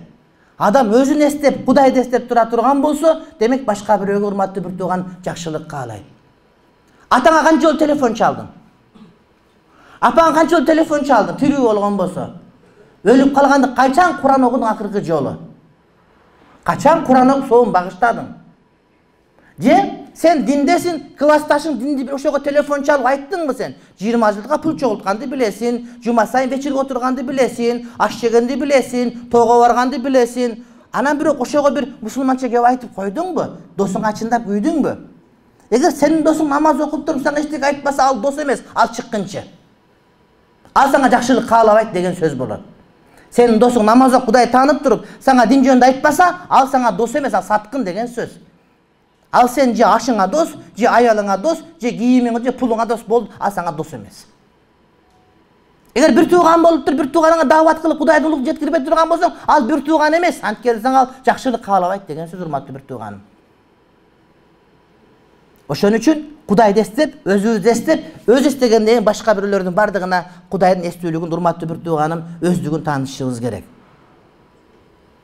[SPEAKER 1] Адам өзүн эстеп, Кудайды эстеп тура турган болсо, демек башка бирөөгө урматтуу бир тууган жакшылык каалайт. Атаңа канча жолу телефон чалдың? Апаңа канча жолу телефон чалдың? Тирүү болгон болсо. Өлүп калганда качан Куран окудуң акыркы жолу? Качан Куран окуп соон багыштадың? Же сен диндесин, классташың динди ошого телефон чалып айттыңбы сен? 20 жылга пул чогултканды билесин, жума сайын вечерге отурганды билесин, аш жегенди билесин, тоого барганды билесин. Анан бирок ошого бир мусулманча кеп айтып койдуңбу? Досуңа чындап күйдүңбү? Эгер сенин досуң намаз окуп туруп сага эчтеке айтпаса, ал дос эмес, ал чыккынчы. Ал сага жакшылык каалабайт деген сөз болот. Сенин досуң намаз окуп Кудай таанып туруп, сага дин жөнүндө айтпаса, ал сага дос эмес, ал саткын деген сөз. Ал сен же ашыңа дос, же аялыңа дос, же кийимиңе, же пулуңа дос болду, ал сага дос эмес. Эгер бир тууган болуп туруп, бир тууганыңа даават кылып Кудайды улук жеткирбей турган болсоң, ал бир тууган эмес, анткени ал жакшылык каалабайт деген сөз, урматтуу бир тууганым. Ошон үчүн Кудайды эстеп, өзүбүздү эстеп, өз эстегенден кийин башка бирөөлөрдүн бардыгына Кудайдын эстүүлүгүн, урматтуу бир тууганым, өздүгүн таанышыбыз керек.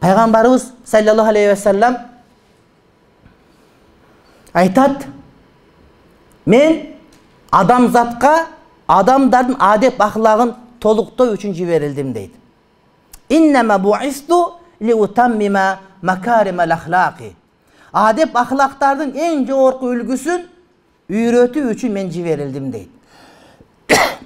[SPEAKER 1] Пайгамбарыбыз саллаллаху алейхи ва саллям айтат: "Мен адамзатка адамдардын адеп ахлагын толуктоо үчүн жиберилдим" дейт. "Иннама буисту ли утаммима макаримал ахлaqi." Адеп ахлактардын эң жогорку үлгүсүн үйрөтүү үчүн мен жиберилдим дейт.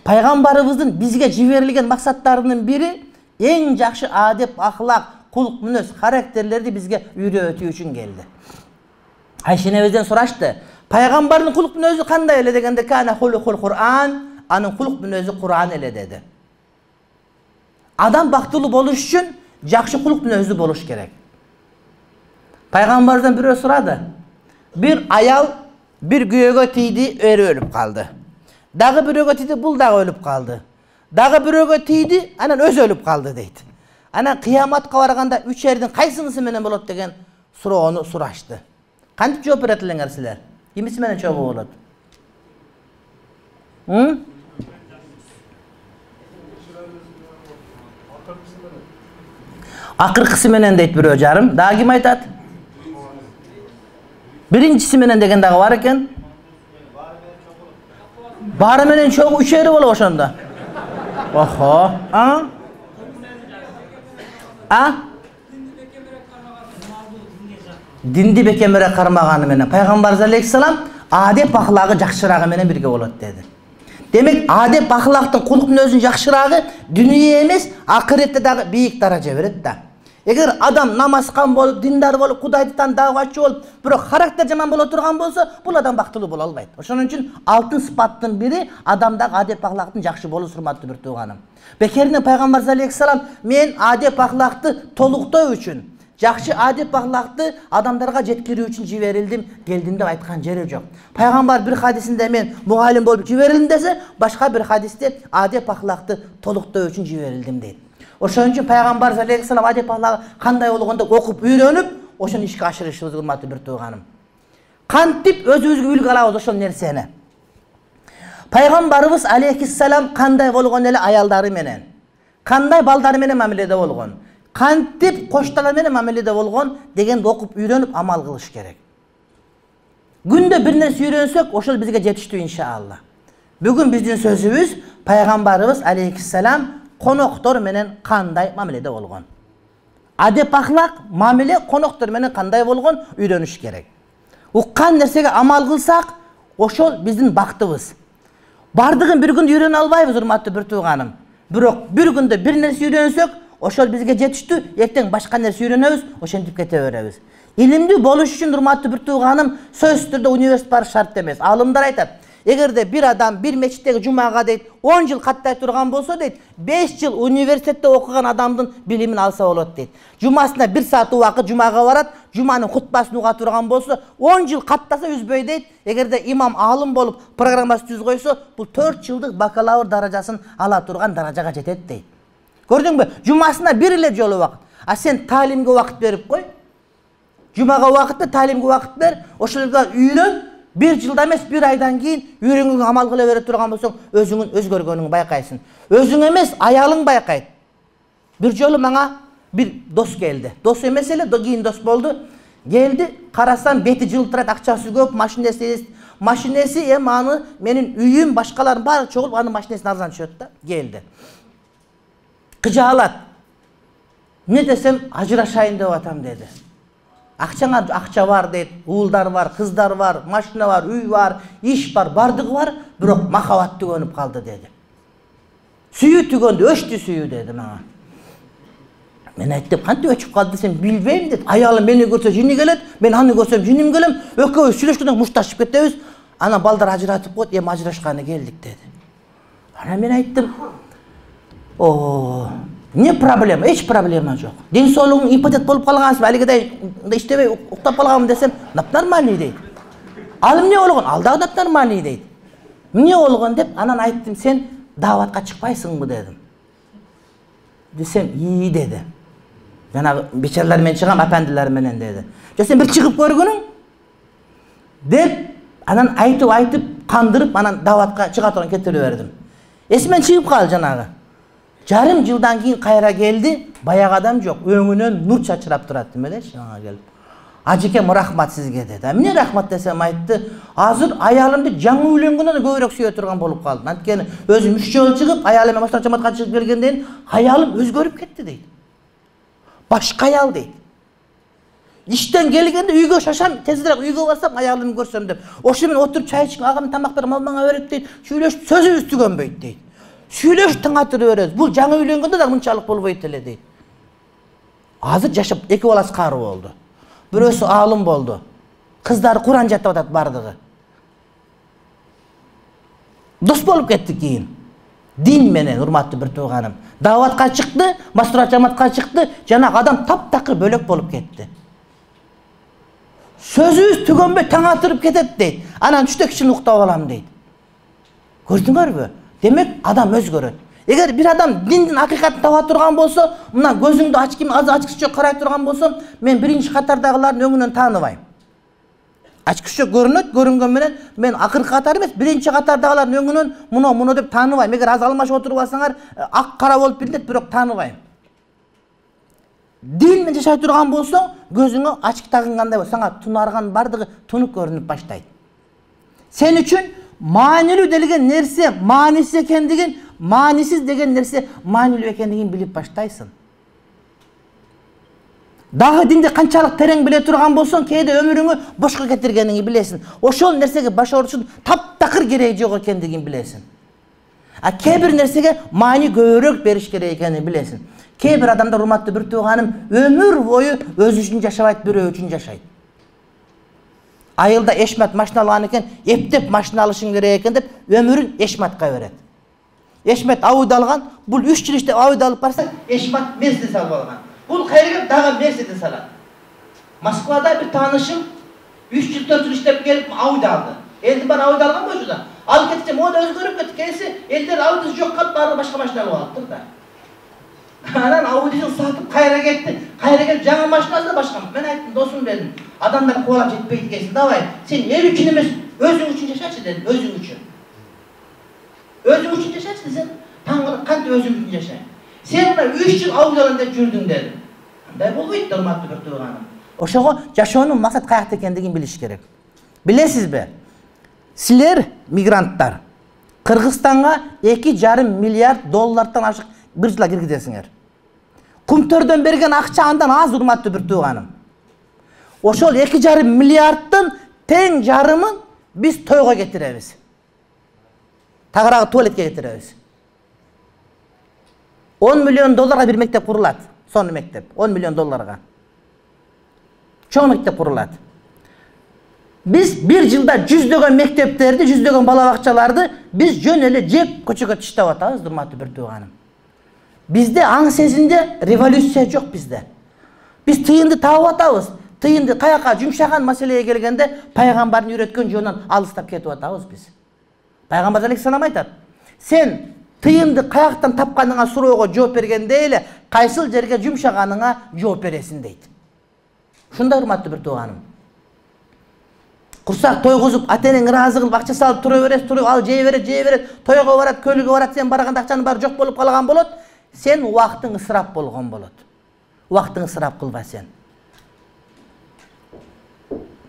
[SPEAKER 1] Пайгамбарыбыздын бизге жиберилген максаттарынын бири эң жакшы адеп ахлак, кулк мүнөз, характерлерди бизге үйрөтүү үчүн келди. Айша энебизден сурашты: "Пайгамбардын кулк мүнөзү кандай эле?" дегенде, "Кана хулукул Кур'ан", анын кулк мүнөзү Кур'ан эле деди. Адам бактылуу болуш үчүн жакшы кулк мүнөздүү болуш керек. Пайгамбардан бирөө сурады. Bir аял bir күйөөгө тийди, ери өлүп калды. Дагы бирөөгө тийди, бул дагы өлүп калды. Дагы бирөөгө тийди, анан өзү өлүп калды дейт. Анан кыяматка барганда 3 эрдин кайсынысы менен болот деген суроону сурашты. Кантип жооп берет элеңер силер? Кимиси менен чогуу болот? Акыркысы менен дейт бирөө жарым. Дагы ким айтат? Биринчиси менен деген дагы бар экен. Баары менен чогуу 3 ери болот ошондо. Охо. Динди бекемирээк кармаганы менен Пайгамбарыбыз алейхиссалам адеп ахлагы жакшырагы менен бирге болот деди. Демек, адеп ахлактын кулк мүнөзүнүн жакшырагы дүнүйө эмес, акыретте дагы бийик даража берет да. Эгер адам намазкан болуп, диндар болуп, Кудайды дааватчы болуп, бирок характер жаман боло турган болсо, бул адам бактылуу боло албайт. Ошон үчүн алтын сыпаттын бири адамдагы адеп ахлактын жакшы болуусу, урматтуу бир тууганым. Бекеринен Пайгамбарыбыз алейхиссалам: "Мен адеп ахлакты толуктоо үчүн, жакшы адеп ахлакты адамдарга жеткирүү үчүн жиберилдим, келдим деп айткан жери жок. Пайгамбар бир хадисинде мен мугалим болуп жиберилдим десе, башка бир хадисте адеп ахлакты толуктоо үчүн жиберилдим дейт. Ошон үчүн пайгамбар алейхиссалам адеп ахлагы кандай болгондо окуп үйрөнүп, ошону ишке ашырышыбыз урматтуу бир тууганым. Кантип өзүбүзгө үлгү алабыз ошол нерсени? Пайгамбарыбыз алейхиссалам кандай болгон эле аялдары менен, кандай балдары менен мамиледе болгон, кантип коштары менен мамиледе болгон дегенди окуп үйрөнүп амал кылыш керек. Күндө бир нерсе үйрөнсөк, ошол бизге жетиштүү иншалла. Бүгүн биздин сөзүбүз пайгамбарыбыз алейхиссалам коноктор менен кандай мамиледе болгон. Адеп ахлак, мамиле коноктор менен кандай болгон үйрөнүш керек. Уккан нерсеге амал кылсак, ошол биздин бактыбыз. Бардыгын бир күндө үйрөнө албайбыз, урматтуу бир тууганым. Бирок бир күндө бир нерсе үйрөнсөк, ошол бизге жетиштүү, эртең башка нерсе үйрөнөбүз, ошентип кете беребиз. Илимдүү болуш үчүн, урматтуу бир тууганым, сөзсүз түрдө университет барыш шарт эмес. Алымдар айтат, эгерде бир адам бир мечиттеги жумага дейт 10 жыл каттай турган болсо дейт, 5 жыл университетте окуган адамдын билимин алса болот дейт. Жумасына 1 саат убакыт жумага барат, жуманын хутбасын уга турган болсо 10 жыл каттаса үзбөй дейт. Эгерде имам алым болуп программасын түзүп койсо, бул 4 жылдык бакалавр даражасын ала турган даражага жетет дейт. Көрдүңбү? Жумасына бир эле жолу убакыт. А сен таалимге убакыт берип кой. Жумага убакытты, таалимге убакыт бер, ошолорго үйрөн. 1 жылда эмес, 1 айдан кийин үйрөнгөнгө амал кыла бере турган болсоң, өзүңүн өзгөргөнүңдү байкайсың. Өзүң эмес, аялың байкайт. Бир жолу мага бир дос келди. Дос эмес эле, кийин дос болду. Келди, карасам бети жылтырайт, акчасы көп, машинеси эми аны менин үйүм, башкалардын баары чогулуп анын машинесин арзан түшөт да. Келди. Кыжаалат. Не десем, ажырашайын деп атам деди. Акчаңа акча бар дейт, уулдар бар, кыздар бар, машина бар, үй бар, иш бар, бардыгы бар, бирок махабат түгөнүп калды деди. Сүйүү түгөндү, өчтү сүйүү деди мага. Мен айттым, кантип өчүп калды десем, билбейм деди. Аялым мени көрсө жини келет, мен аны көрсөм жиним келем, экөөбүз сүйлөшкөндөн мушташып кетебиз. Анан балдар ажыратып коет, эми ажырашканы келдик деди. Анан мен айттым, не проблема, эч проблема жок. Ден соолугуң импотент болуп калгансың, алигидей иштебей уктап калганмын десем, нормальный дейт. Ал эмне болгон? Ал дагы нормальный дейт. Эмне болгон деп анан айттым, сен дааватка чыкпайсыңбы дедим. Десем, деди. Жанагы бечаралар менен чыгам, апандылар менен деди. Жок, сен бир чыгып көргүнүң деп анан айтып кандырып, анан дааватка чыга турган кетире бердим. Эсимен чыгып калды жанагы. Жарым жылдан кийин кайра келди, баягы адам жок, өңүнөн нур чачырап турат демелечи, ага келип. Ажекем, рахмат сизге деди. Эмне рахмат десем айтты, азыр аялымды жаңы үйлөнгөндөн көбүрөөк сүйө турган болуп калдым. Анткени өзүм 3 жолу чыгып, аялым менен башка жамаатка чыгып келгенден аялым өзгөрүп кетти дейт. Башка аял дейт. Иштен келгенде үйгө шашам, тезирээк үйгө барсам аялымды көрсөм деп. Ошо менен отуруп чай ичип, агам тамак бер, мага берет дейт. Сүйлөшүп сөзүбүз түгөнбөйт дейт. Сүйлөшүп таңатырып беребиз. Бул жаңы үйлөнгөндө да мынчалык болбойт эле дейт. Азыр жашап 2 баласы кары болду. Бирөөсү алым болду. Кыздары Куран жатып атат бардыгы. Дос болуп кеттик кийин. Дин менен, урматтуу бир тууганым. Дааватка чыкты, мастура жамаатка чыкты, жанагы адам таптакыр бөлөк болуп кетти. Сөзүбүз түгөнбөй таңатырып кетет дейт. Анан түштө кичине уктап алам дейт. Көрдүңөрбү? Демек адам өзгөрөт. Эгер бир адам диндин акыйкатын таба турган болсо, мына көзүңдү ачкыча карай турган болсом, мен биринчи катардагылардын өңүнөн тааныбайм. Ачкыча көрүнөт, көрүнгөн менен мен акыркы катар эмес, биринчи катардагылардын өңүнөн муну деп тааныбайм. Эгер аз алмашып отуруп алсаңар, ак кара болуп билинет, бирок тааныбайм. Дин менен жашай турган болсоң, көзүңө ачкы тагынгандай болсо, сага тунарган бардыгы тунук көрүнүп баштайт. Сен үчүн маанилүү деген нерсе маанисиз экендигин, маанисиз деген нерсе маанилүү экендигин билип баштайсың. Дагы динди канчалык терең биле турган болсоң, кээде өмүрүңү бошко кетиргениңди билесиң. Ошол нерсеге баш орушун таптакыр кереги жок экендигин билесиң. А кээ бир нерсеге маани көбүрөөк бериш керек экенин билесиң. Кээ бир адамдар, урматтуу бир тууганым, өмүр бою өзү үчүн жашабайт, бирөө үчүн жашайт. Айылда эшмат машина алган экен, эптеп машина алышың керек экен деп өмүрүн эшматка берет. Эшмат Ауди алган, бул 3 жыл иштеп Ауди алып барса, эшмат Мерседес алып алган. Бул кайрыгып дагы Мерседес алат. Москвада бир таанышым 3 жыл 4 жыл иштеп келип Audi алды. Элдин баары Audi алган болчу да. Алып кетсем, мода өзгөрүп кетти. Келсе, элдер Audi'si жок калып, баары башка машина алып алыптыр да. Анан Audi'син сатып кайра кетти. Кайра келип жаңы машинасы да башка. Мен айттым, досум дедим, адамдар кубалап жетпейт экенсиң. Давай, сен эл үчүн эмес, өзүң үчүн жашачы дедим, өзүң үчүн. Өзүң үчүн жашачы десем, таңгы кантип өзүң үчүн жашайм. Сен мына 3 жыл Audi алам деп жүрдүң дедим. Андай болбойт, урматтуу бир тууганым. Ошого жашоонун максаты каякта экендигин билиш керек. Билесизби? Силер мигранттар Кыргызстанга 2,5 миллиард доллардан ашык бир жылда киргизесиңер. Кумтөрдөн берген акча андан аз, урматтуу бир тууганым. Ошол 2,5 миллиарддын тең жарымын биз тойго кетиребиз. Тагыраагы туалетке кетиребиз. 10 миллион долларга бир мектеп курулат. Сонун мектеп, 10 миллион долларга. Чоң мектеп курулат. Biz bir жылда жүздөгөн мектептерди, жүздөгөн бала бакчаларды биз жөн эле жеп көчөгө таштап атабыз, урматтуу бир тууганым. Бизде аң сезимде революция жок бизде. Биз тыйынды таап атабыз. Тыйынды каяка жумшаган маселеге келгенде пайгамбардын үйрөткөн жолунан алыстап кетип атабыз биз. Пайгамбар алейхиссалам айтат: "Сен тыйынды каяктан тапканыңа суроого жооп бергенде эле кайсыл жерге жумшаганыңа жооп бересиң" дейт. Ушундай, урматтуу бир тууганым. Курсак тойгузуп, ата-энең ыраазы кылып акча салып тура берет, ал жей берет, тойго барат, көлүгө барат, сен барганда акчанын баары жок болуп калган болот. Сен убактың ысырап болгон болот. Убактың ысырап кылба сен.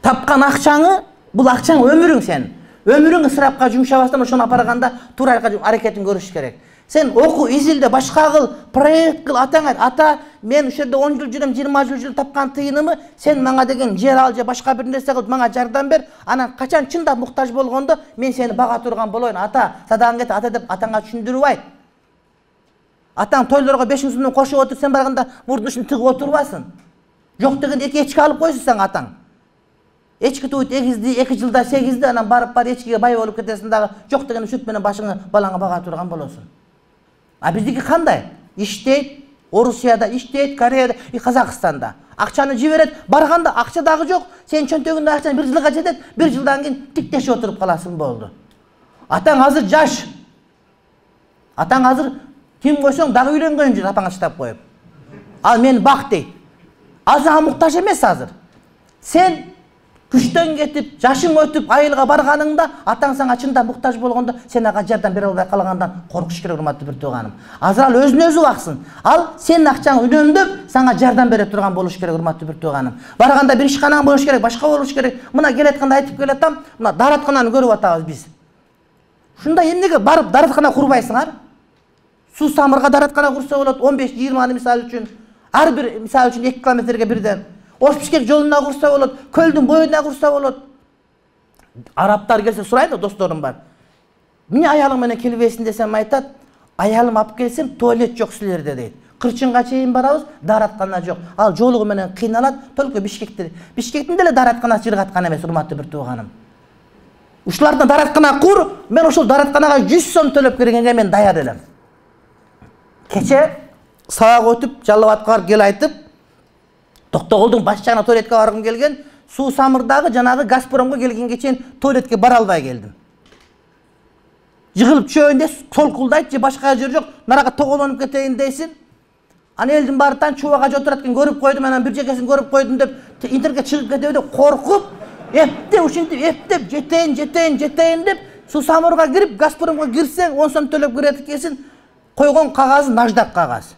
[SPEAKER 1] Тапкан акчаңы, бул акчаң өмүрүң сен. Өмүрүң ысырапка жумшабастан ошону апарганда туура аракетин көрүш керек. Сен оку, изилде, башка кыл, проект кыл, атаң айт. Ата, мен ушул жерде 10 жыл жүрөм, 20 жыл жүрүп тапкан тыйынымы сен мага деген жер ал же башка бир нерсе кылып мага жардам бер. Анан качан чындап муктаж болгондо мен сени бага турган болоюн. Ата, садагаң кет, ата деп атаңа түшүндүрүп айт. Атаң тойлорго 5 сомдон кошуп отуруп, сен барганда мурдун ушун тыгып отурбасын. Жок деген 2 эчки алып койсун сен атаң. Эчки туйт эгизди, 2 жылда 8ди, анан барып эчкиге бай болуп кетесиң дагы. Жок деген сүт менен башыңы балаңа бага турган болосуң. А биздики кандай? Иштейт, Орусияда иштейт, Кореяда, Казакстанда. Акчаны жиберет, барганда акча дагы жок. Сен чөнтөгүндө акчаң 1 жылга жетет, 1 жылдан кийин тиктешип отуруп каласың болду. Атаң азыр жаш. Атаң азыр ким койсоң дагы үйлөнгөн жүр, апаңа чыдап коюп. Ал мен бак дейт. Азыр ага муктаж эмес азыр. Сен күчтөн кетип, жашың өтүп, айылга барганыңда, атаң сага чында муктаж болгондо, сен ага жардам бере албай калгандан коркуш керек, урматтуу бир тууганым. Азыр ал өзүн өзү баксын. Ал сенин акчаңы үнөмдөп, сага жардам бере турган болуш керек, урматтуу бир тууганым. Барганда бир ишканаң болуш керек, башка болуш керек. Мына келатканда айтып келатам, мына дараткананы көрүп атабыз биз. Ушунда эмнеге барып дараткана курбайсыңар? Суу самырга дараткана курса болот, 15-20 мисалы үчүн. Ар бир мисалы үчүн 2 километрге бирден. Ош-Бишкек жолуна курса болот, көлдүн боюна курса болот. Арабтар келсе сурайт да, досторум бар. Эмне аялың менен келбейсиң десем айтат, аялым алып келсем туалет жок силерде дейт. Кырчынга чейин барабыз, дараткана жок. Ал жолугу менен кыйналат, только Бишкектин деле даратканасы жыргаткан эмес, урматтуу бир тууганым. Ушулардан дараткана кур, мен ошол даратканага 100 сом төлөп киргенге мен даяр элем. Кече сабак өтүп, Жалал-Абадка кел айтып, Токтогулдун баш жагына туалетке баргым келген, Суу Самырдагы жанагы Газпромго келгенге чейин туалетке бара албай келдим. Жыгылып чөйүндө солкулдайт же башка жер жок, нарага тоголонуп кетейин дейсин. Аны элдин баары чубага отурат экен, көрүп койдум, анан бир жекесин көрүп койдум деп интернетке чыгып кетеби деп коркуп, эптеп ушинтип эптеп жетейин деп Суу Самырга кирип, Газпромго кирсең 10 сом төлөп кирет экенсиң, койгон кагазы наждак кагаз.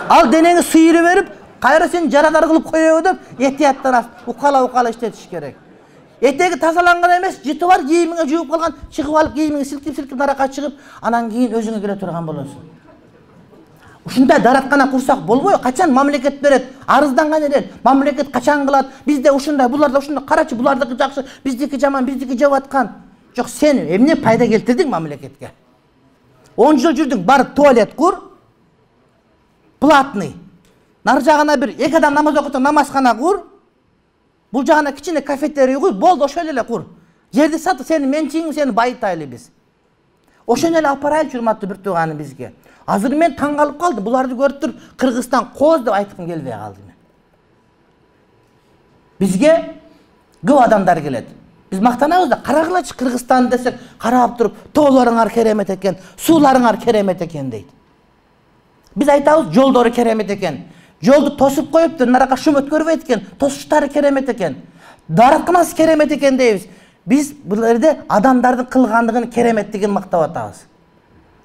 [SPEAKER 1] Ал денеңи сыйырып берип, кайра сен жарадар кылып коёбу деп этияттан укала иштетиш керек. Этеги тазаланган эмес, жыты бар, кийимиңе жууп калган, чыгып алып кийимиңи силкип наракка чыгып, анан кийин өзүңө келе турган болосуң. Ушундай дараткана курсак болбой, качан мамлекет берет? Арызданган эле, мамлекет качан кылат? Бизде ушундай, буларда ушундай, карачы, булардыкы жакшы, биздики жаман, биздики жеп аткан. Жок, сен эмне пайда келтирдиң мамлекетке? 10 жыл жүрдүң, барып туалет кур, платный. Нар жагына бир 2 адам намаз окутса намазкана кур. Бул жагына кичине кафетерий кур, болду, ошол эле кур. Жерди сатып, сени менчигиң, сени байытайлы биз. Ошону эле апарайлычы, урматтуу бир тууганым бизге. Азыр мен таң калып калдым. Буларды көрүп туруп Кыргызстан кооз деп айткым келбей калды мен. Бизге көп адамдар келет. Биз мактанабыз да, карагылачы Кыргызстан десек, карап туруп, тоолоруңар керемет экен, сууларыңар керемет экен дейт. Биз айтабыз, жолдору керемет экен. Жолду тосуп коюптур, нарака шум өткөрбөйт экен, тосуштары керемет экен. Дарыкмасы керемет экен дейбиз. Биз бул жерде адамдардын кылгандыгын кереметтигин мактап атабыз.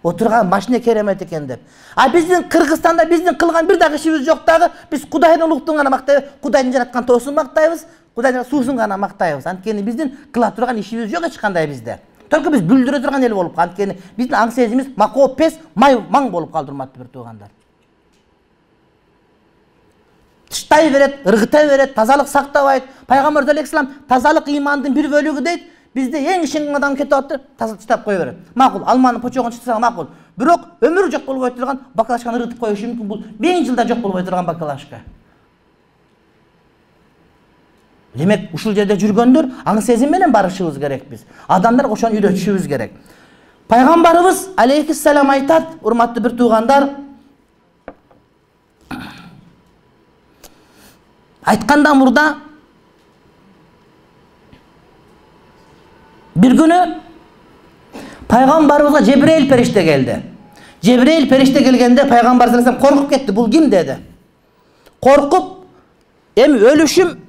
[SPEAKER 1] Отурган машина керемет экен деп. А биздин Кыргызстанда биздин кылган бир дагы ишибиз жок дагы. Биз Кудайдын улуктугун гана мактайбыз, Кудайдын жараткан тоосун мактайбыз, Кудайдын суусун гана мактайбыз. Анткени биздин кыла турган ишибиз жок эч кандай бизде. Только биз бүлдүрө турган эл болуп калды. Анткени биздин аң сезимибиз макоо пес, маң болуп калды, урматтуу бир туугандар. Тыштай берет, ыргыта берет, тазалык сактабайт. Пайгамбар алейхиссалам тазалык имандын бир бөлүгү дейт. Бизде эң ишенген адам кетип атты, таштап кое берет. Макул, алманын почогун чытсаң макул. Бирок өмүрү жок болбой турган бакалашканы ыргытып коюшу мүмкүн. Бул 1000 жылда жок болбой турган бакалашка. Демек, ушул жерде жүргөндөр аң сезим менен барышыбыз керек биз. Адамдар ошону үйрөтүшүбүз керек. Пайгамбарыбыз алейхиссалам айтат, урматтуу бир туугандар, айткандан мурда bir günü Peygamberimize Cebrail perişte geldi. Cebrail perişte gelgende Peygamber sallallahu aleyhi ve sellem korkup gitti. Bul kim dedi. Korkup hem ölüşüm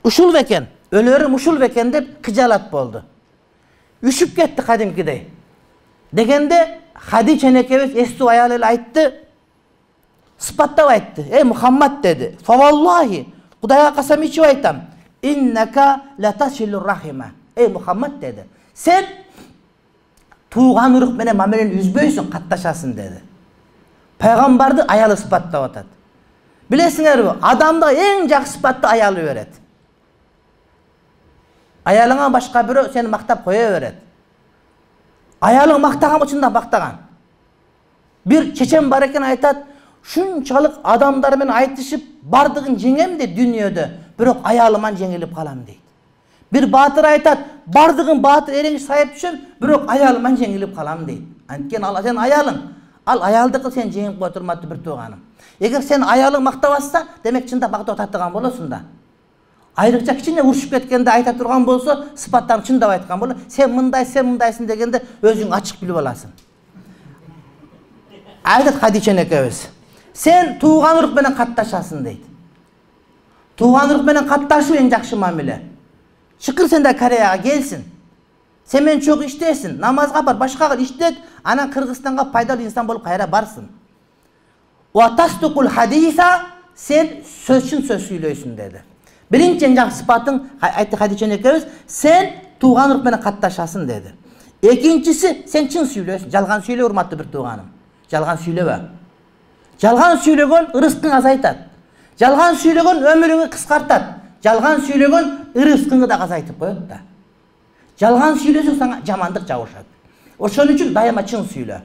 [SPEAKER 1] uşul beken, ölürüm uşul beken dep kıcalat boldu. Üşüp gitti kadimkidey. Degende Hadice enekebes estu ayalıyla ayttı. Sıpattap ayttı. Ey Muhammed dedi. Favallahi Kudaya kasam içi aytam. İnneka latasilur rahime. Ey Muhammed dedi. Sen tuğan uruk menen mamelen üzböysün, kattaşasın dedi. Peygamberdi ayalı sıpattap atat. Bilesiңер mi? Adamda en jakşı sıpatты ayalı öğret. Ayalına başka biri seni maktap koya öğret. Ayalın maktagan uçundan baktagan. Bir çeçen bar eken aytat, şunçalık adamlar men aytışıp bardığın jengem de dünyada, birok ayalıman jengilip kalam deydi. Bir batır aytat, bardığın batır ereği sayıp düşün, birok ayalıman jengilip kalam deydi. Anken al sen ayalın, al ayaldıkı sen jengip koyturmadı bir tuğanım. Eğer sen ayalın maktavassa, demek çında maktava tattıgan bolosun da. Ayrıca kichine uruşup ketkende ayta turgan bolsa, sıfattan çındap aytkan bolur. Sen mındaysın degende özüň açık bilip alasın. Aytat Hadice enekebis. Sen tuğan uruk menen kattaşasın deydi. Tuğan uruk menen kattaşуу en jakşı mamile. Çıkır sen de Koreyaga gelsin. Sen men çok iştesin, namazga bar, başka iştet, anan Kırgızstan'a faydalı insan bolup kayra barsın. Wa tasduqul hadisa, sen sözçün söz söylöysün dedi. Birinci en jakşı sıfatın aytты Hadice enekebis, sen tuğan uruk menen kattaşasın dedi. Ekinçisi sen çın söylöysün, jalgan söyle urmatlı bir tuğanım. Jalgan söylebe. Jalgan söylegen ırıskın azaytat. Jalgan söylegen ömürünü kıskartat. Jalgan söylegen ırıskını da azaytıp koyot da. Jalgan söylesün sana jamandık jabышат. Oşon üçün dayama çın söyle.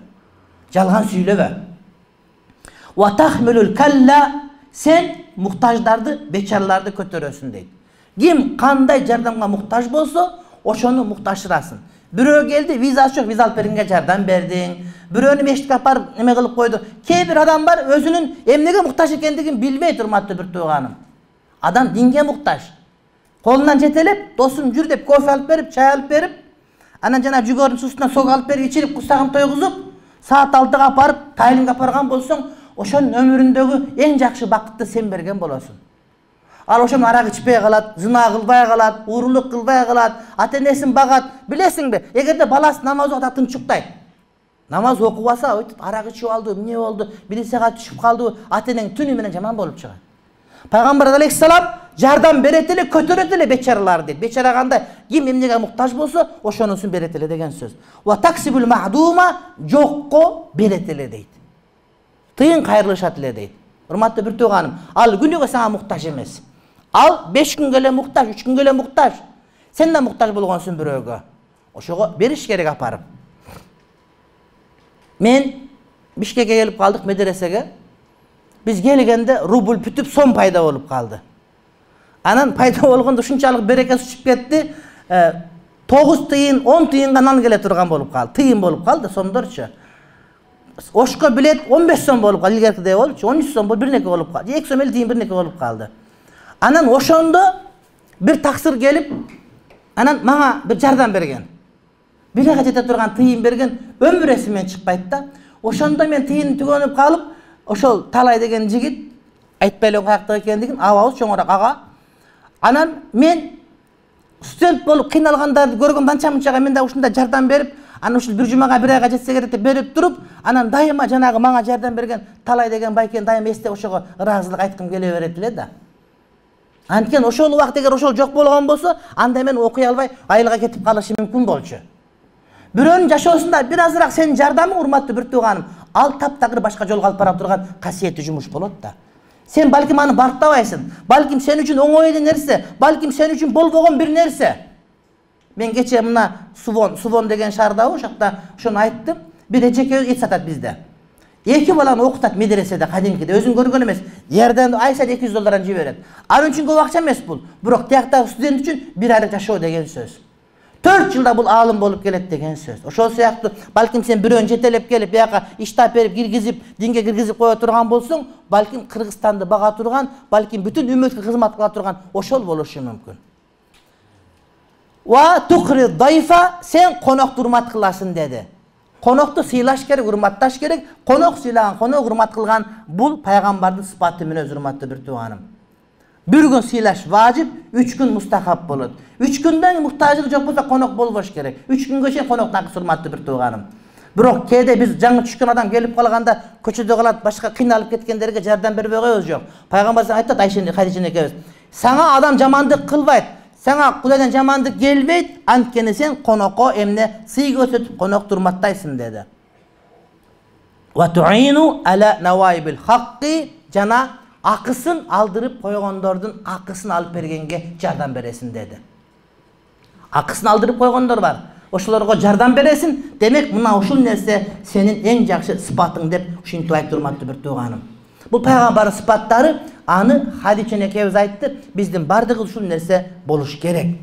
[SPEAKER 1] Jalgan söylebe. Wa tahmilul kalla, sen muhtajlardı, beçarlardı kötörösün deydi. Kim kanday jardamga muhtaj bolsa, oşonu muhtaşırasın. Birөө geldi, vizası yok, viza alıp beringe jardam berdin. Biröөнü meşitke aparıp neme kılıp koydu. Kebir adam var, özünün emnege muhtaç ekendigin bilmey turmatты bir tuğanım. Adam dinge muhtaç. Kolundan jetelep, dostum jür dep kofe alıp berip, çay alıp berip, anan jana jugorun susuna sok alıp berip, içirip kusagın toyguzup, saat 6'ga aparıp, taylinge apargan bolsoň, oşonun ömüründögü en jakşı bakıtты sen bergen bolosun. Al oşon arak içpey kalat, zina kılbay kalat, uğurluk kılbay kalat, ata-enesin bagat. Bilesiň be, egerde balası namaz okup tınçuktayt. Namaz okubasa, arak içip aldı, ne oldu, 1 saat düşüp kaldı, ata-eneň tünü menen jaman bolup çıgat. Peygamber aleyhissalam jardam bereteli, kötöreteli beçaralar deydi. Beçara kандай, kim emnege muhtaç bolsa, oşonusun bereteli degen söz. Wa taksibul ma'duma, jokko bereteli deydi. Tıyın kayrılışat ele deydi. Urmatlı bir tuğanım, al günüge sana muhtaç emes. Al 5 gün gele muhtaç, 3 gün gele muhtaç. Sen de muhtaç bolgonsun biröөгө. Oşoga beriş gerek aparıp. Men Bişkek'e gelip kaldık medresege. Biz gelgende rubl pütüp son payda olup kaldı. Anan payda olganda şunçalık berekesi uçup ketti. 9 tıyın, 10 tıyınga nan gele turgan bolup kaldı. Tıyın bolup kaldı sondorçu. ошко билет 15 сом болуп калды, илгеркидей болчу, 13 сом болуп бирнеке болуп калды. 2 сом эле тийин бирнеке болуп калды. Анан ошондо бир таксыр келип, анан мага бир жардам берген. Бир айга жете турган тыйын берген, өмүр эсимден чыкпайт да. Ошондо мен тыйын түгөнүп калып, ошол Талай деген жигит, айтпай эле каяктагы экендигин, абабыз чоңураак ага. Анан мен студент болуп кыйналгандарды көргөм, анча-мынчага мен да ушундай жардам берип, анан ушул бир жумага бир айга жетсе керек деп берип туруп, анан дайыма жанагы мага жардам берген Талай деген байкени дайыма эстеп ошого ыраазылык айткым келе берет эле да. Анткени ошол убакыт эгер ошол жок болгон болсо, анда мен окуй албай айылга кетип калышым мүмкүн болчу. Бирөөнүн жашоосунда бир азыраак сенин жардамың, урматтуу бир тууганым, ал таптагыр башка жолго алып бара турган касиеттүү жумуш болот да. Сен балким аны барктабайсың, балким сен үчүн оңой эле нерсе, балким сен үчүн болбогон бир нерсе. Мен кече мына Сувон деген шаардабы, ошакта ошону айттым. Бир эжеке эт сатат бизде. 2 баланы окутат медреседе, кадимкиде, өзүң көргөн эмес. Ярдан ай сайын $200 жиберет. Ал үчүн көп акча эмес бул. Бирок тияктагы студент үчүн бир айлык жашоо деген сөз. 4 жылда бул аалым болуп келет деген сөз. Ошол сыяктуу балким сен бирөөнү жетелеп келип, бияка иш таап киргизип, динге киргизип кое турган болсоң, балким Кыргызстанды бага турган, балким бүтүн үммөткө кызмат кыла турган ошол болушу мүмкүн. Ва тукри дайфа, сен конокту урмат кыласың деди. Конокту сыйлаш керек, урматташ керек. Конок сыйлаган, конок урмат кылган бул пайгамбардын сыпаты менен, урматтуу бир тууганым. Bir gün sıylaş vacip, 3 gün mustahap bolot. 3 günden muhtajlık jok bolsa konok bolboş gerek. 3 gün geçen konoktan surmatlı bir tuğanım. Bирок кээде биз жаңы түшкөн адам келип калганда көчөдө калат, башка кыйналып кеткендерге жардам бербей коебуз жок. Пайгамбар айтат Айшени Хадижа экебиз. Сага адам жамандык кылбайт, сага Кудайдан жамандык келбейт, анткени сен конокко эмне сый көрсөтүп конок турматтайсың деди. Ва туину ала навайбил хакки, жана акысын алдырып койгондордун акысын алып бергенге жардам бересиң деди. Акысын алдырып койгондор бар. Ошолорго жардам бересиң. Демек, мына ушул нерсе сенин эң жакшы сыпатың деп ушинтип айтып турмактуу бир тууганым. Бул пайгамбардын сыпаттары, аны Хадича экебиз айтты. Биздин бардыгы ушул нерсе болуш керек.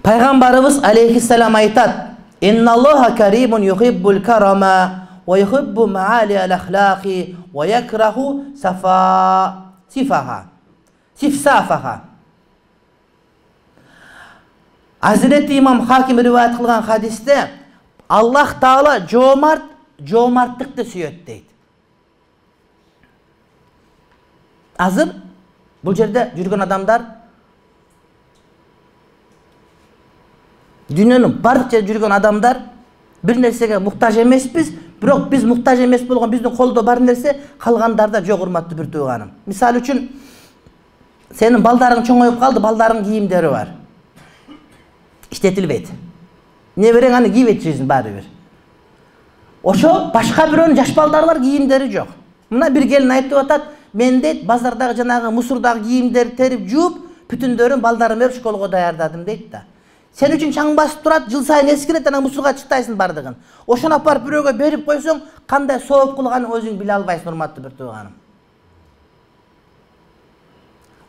[SPEAKER 1] Пайгамбарыбыз алейхиссалам айтат: "Инналлаха каримун юхиббул карама ва юхиббу маали'ал ахлaqi ва якраху сифсафаха." Hazreti İmam Hakim rivayet kılgan hadiste Allah Taala jomartlıkты sүйөт дейт. Азыр бул жерде жүргөн адамдар дүйнөнүн бардык жерде жүргөн адамдар бир нерсеге муктаж эмеспиз, бирок биз муктаж эмес болгон биздин колдо бар нерсе калгандарда жок, урматтуу бир тууганым. Мисалы үчүн сенин балдарың чоңоюп калды, балдарыңдын кийимдери бар. İşletilbeydi. Nebereң аны кийип этчисиң баары бир. Ошо башка бирөөнүн жаш балдары бар, кийимдери жок. Мына бир келин айтып атат, мен дейт базардагы жанагы мусурдагы кийимдерди терип жууп, бүтүндөрүн балдарым берип школго даярдадым дейт да. Сен үчүн чаң басып турат, жыл сайын эскирет, анан мусурга чыктайсың бардыгын. Ошону апарып бирөөгө берип койсоң, кандай сооп кылганын өзүң биле албайсың, урматтуу бир тууганым.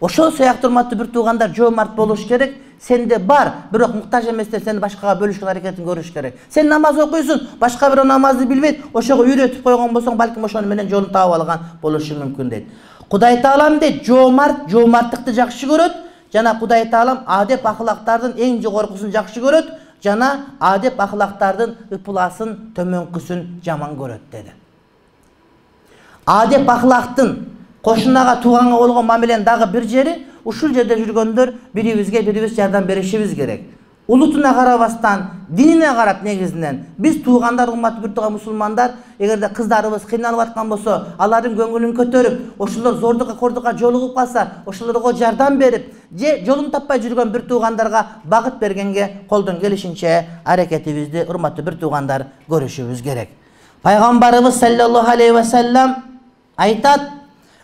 [SPEAKER 1] Ошол сыяктуу урматтуу бир туугандар жоомарт болуш керек. Сенде бар, бирок муктаж эместер, сени башкага бөлүшкөн аракетин көрүш керек. Сен намаз окуйсуң, башка бирөө намазды билбейт, ошого үйрөтүп койгон болсоң, балким ошону менен жолун таап алган болушу мүмкүн дейт. Кудай Таалам дейт, жоомарттыкты жакшы көрөт, жана Кудай Таалам адеп ахлактардын эң жогоркусун жакшы көрөт, жана адеп ахлактардын ыпыласын, төмөнкүсүн жаман көрөт деди. Адеп ахлактын кошунага тууганга болгон мамиленин дагы бир жери, ушул жерде жүргөндөр бирибиз жардам беришибиз керек. Улутуна карабастан, динине карап негизинен биз туугандар, урматтуу бир тууган мусулмандар, эгерде кыздарыбыз кыйналып аткан болсо, алардын көңүлүн көтөрүп, ошолор зордукка кордукка жолугуп калса, ошолорго жардам берип, же жолун таппай жүргөн бир туугандарга багыт бергенге колдон келишинче аракетибизди, урматтуу бир туугандар, көрүшүбүз керек. Пайгамбарыбыз саллаллаху алейхи ва саллям айтат: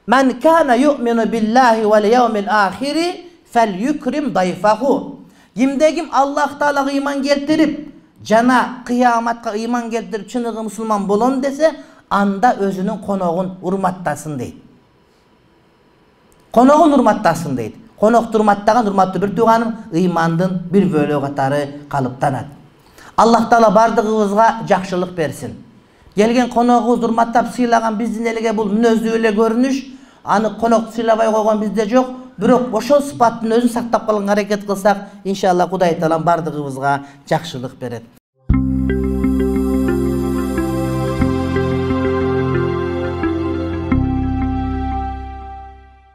[SPEAKER 1] "Men kana yu'minu billahi vel yevmil ahiri fel yukrim dayfahu." Kimde Allah Taalaga iman keltirip, jana kıyamatga iman keltirip çınıgı musulman bolon dese, anda özünün konoğun urmattasın deyit. Konoğun urmattasın deyit. Konok urmattagan urmattуу bir tuğanım imandın bir bölü katarı kalıptanat. Аллах Таала бардыгыбызга жакшылык берсин. Келген коногубузду урматтап сыйлаган биздин элге бул мүнөздүү эле көрүнүш. Аны конокду сыйлабай койгон бизде жок. Бирок ошол сыпаттын өзүн сактап калганга аракет кылсак, иншалла Кудай Таалам бардыгыбызга жакшылык берет.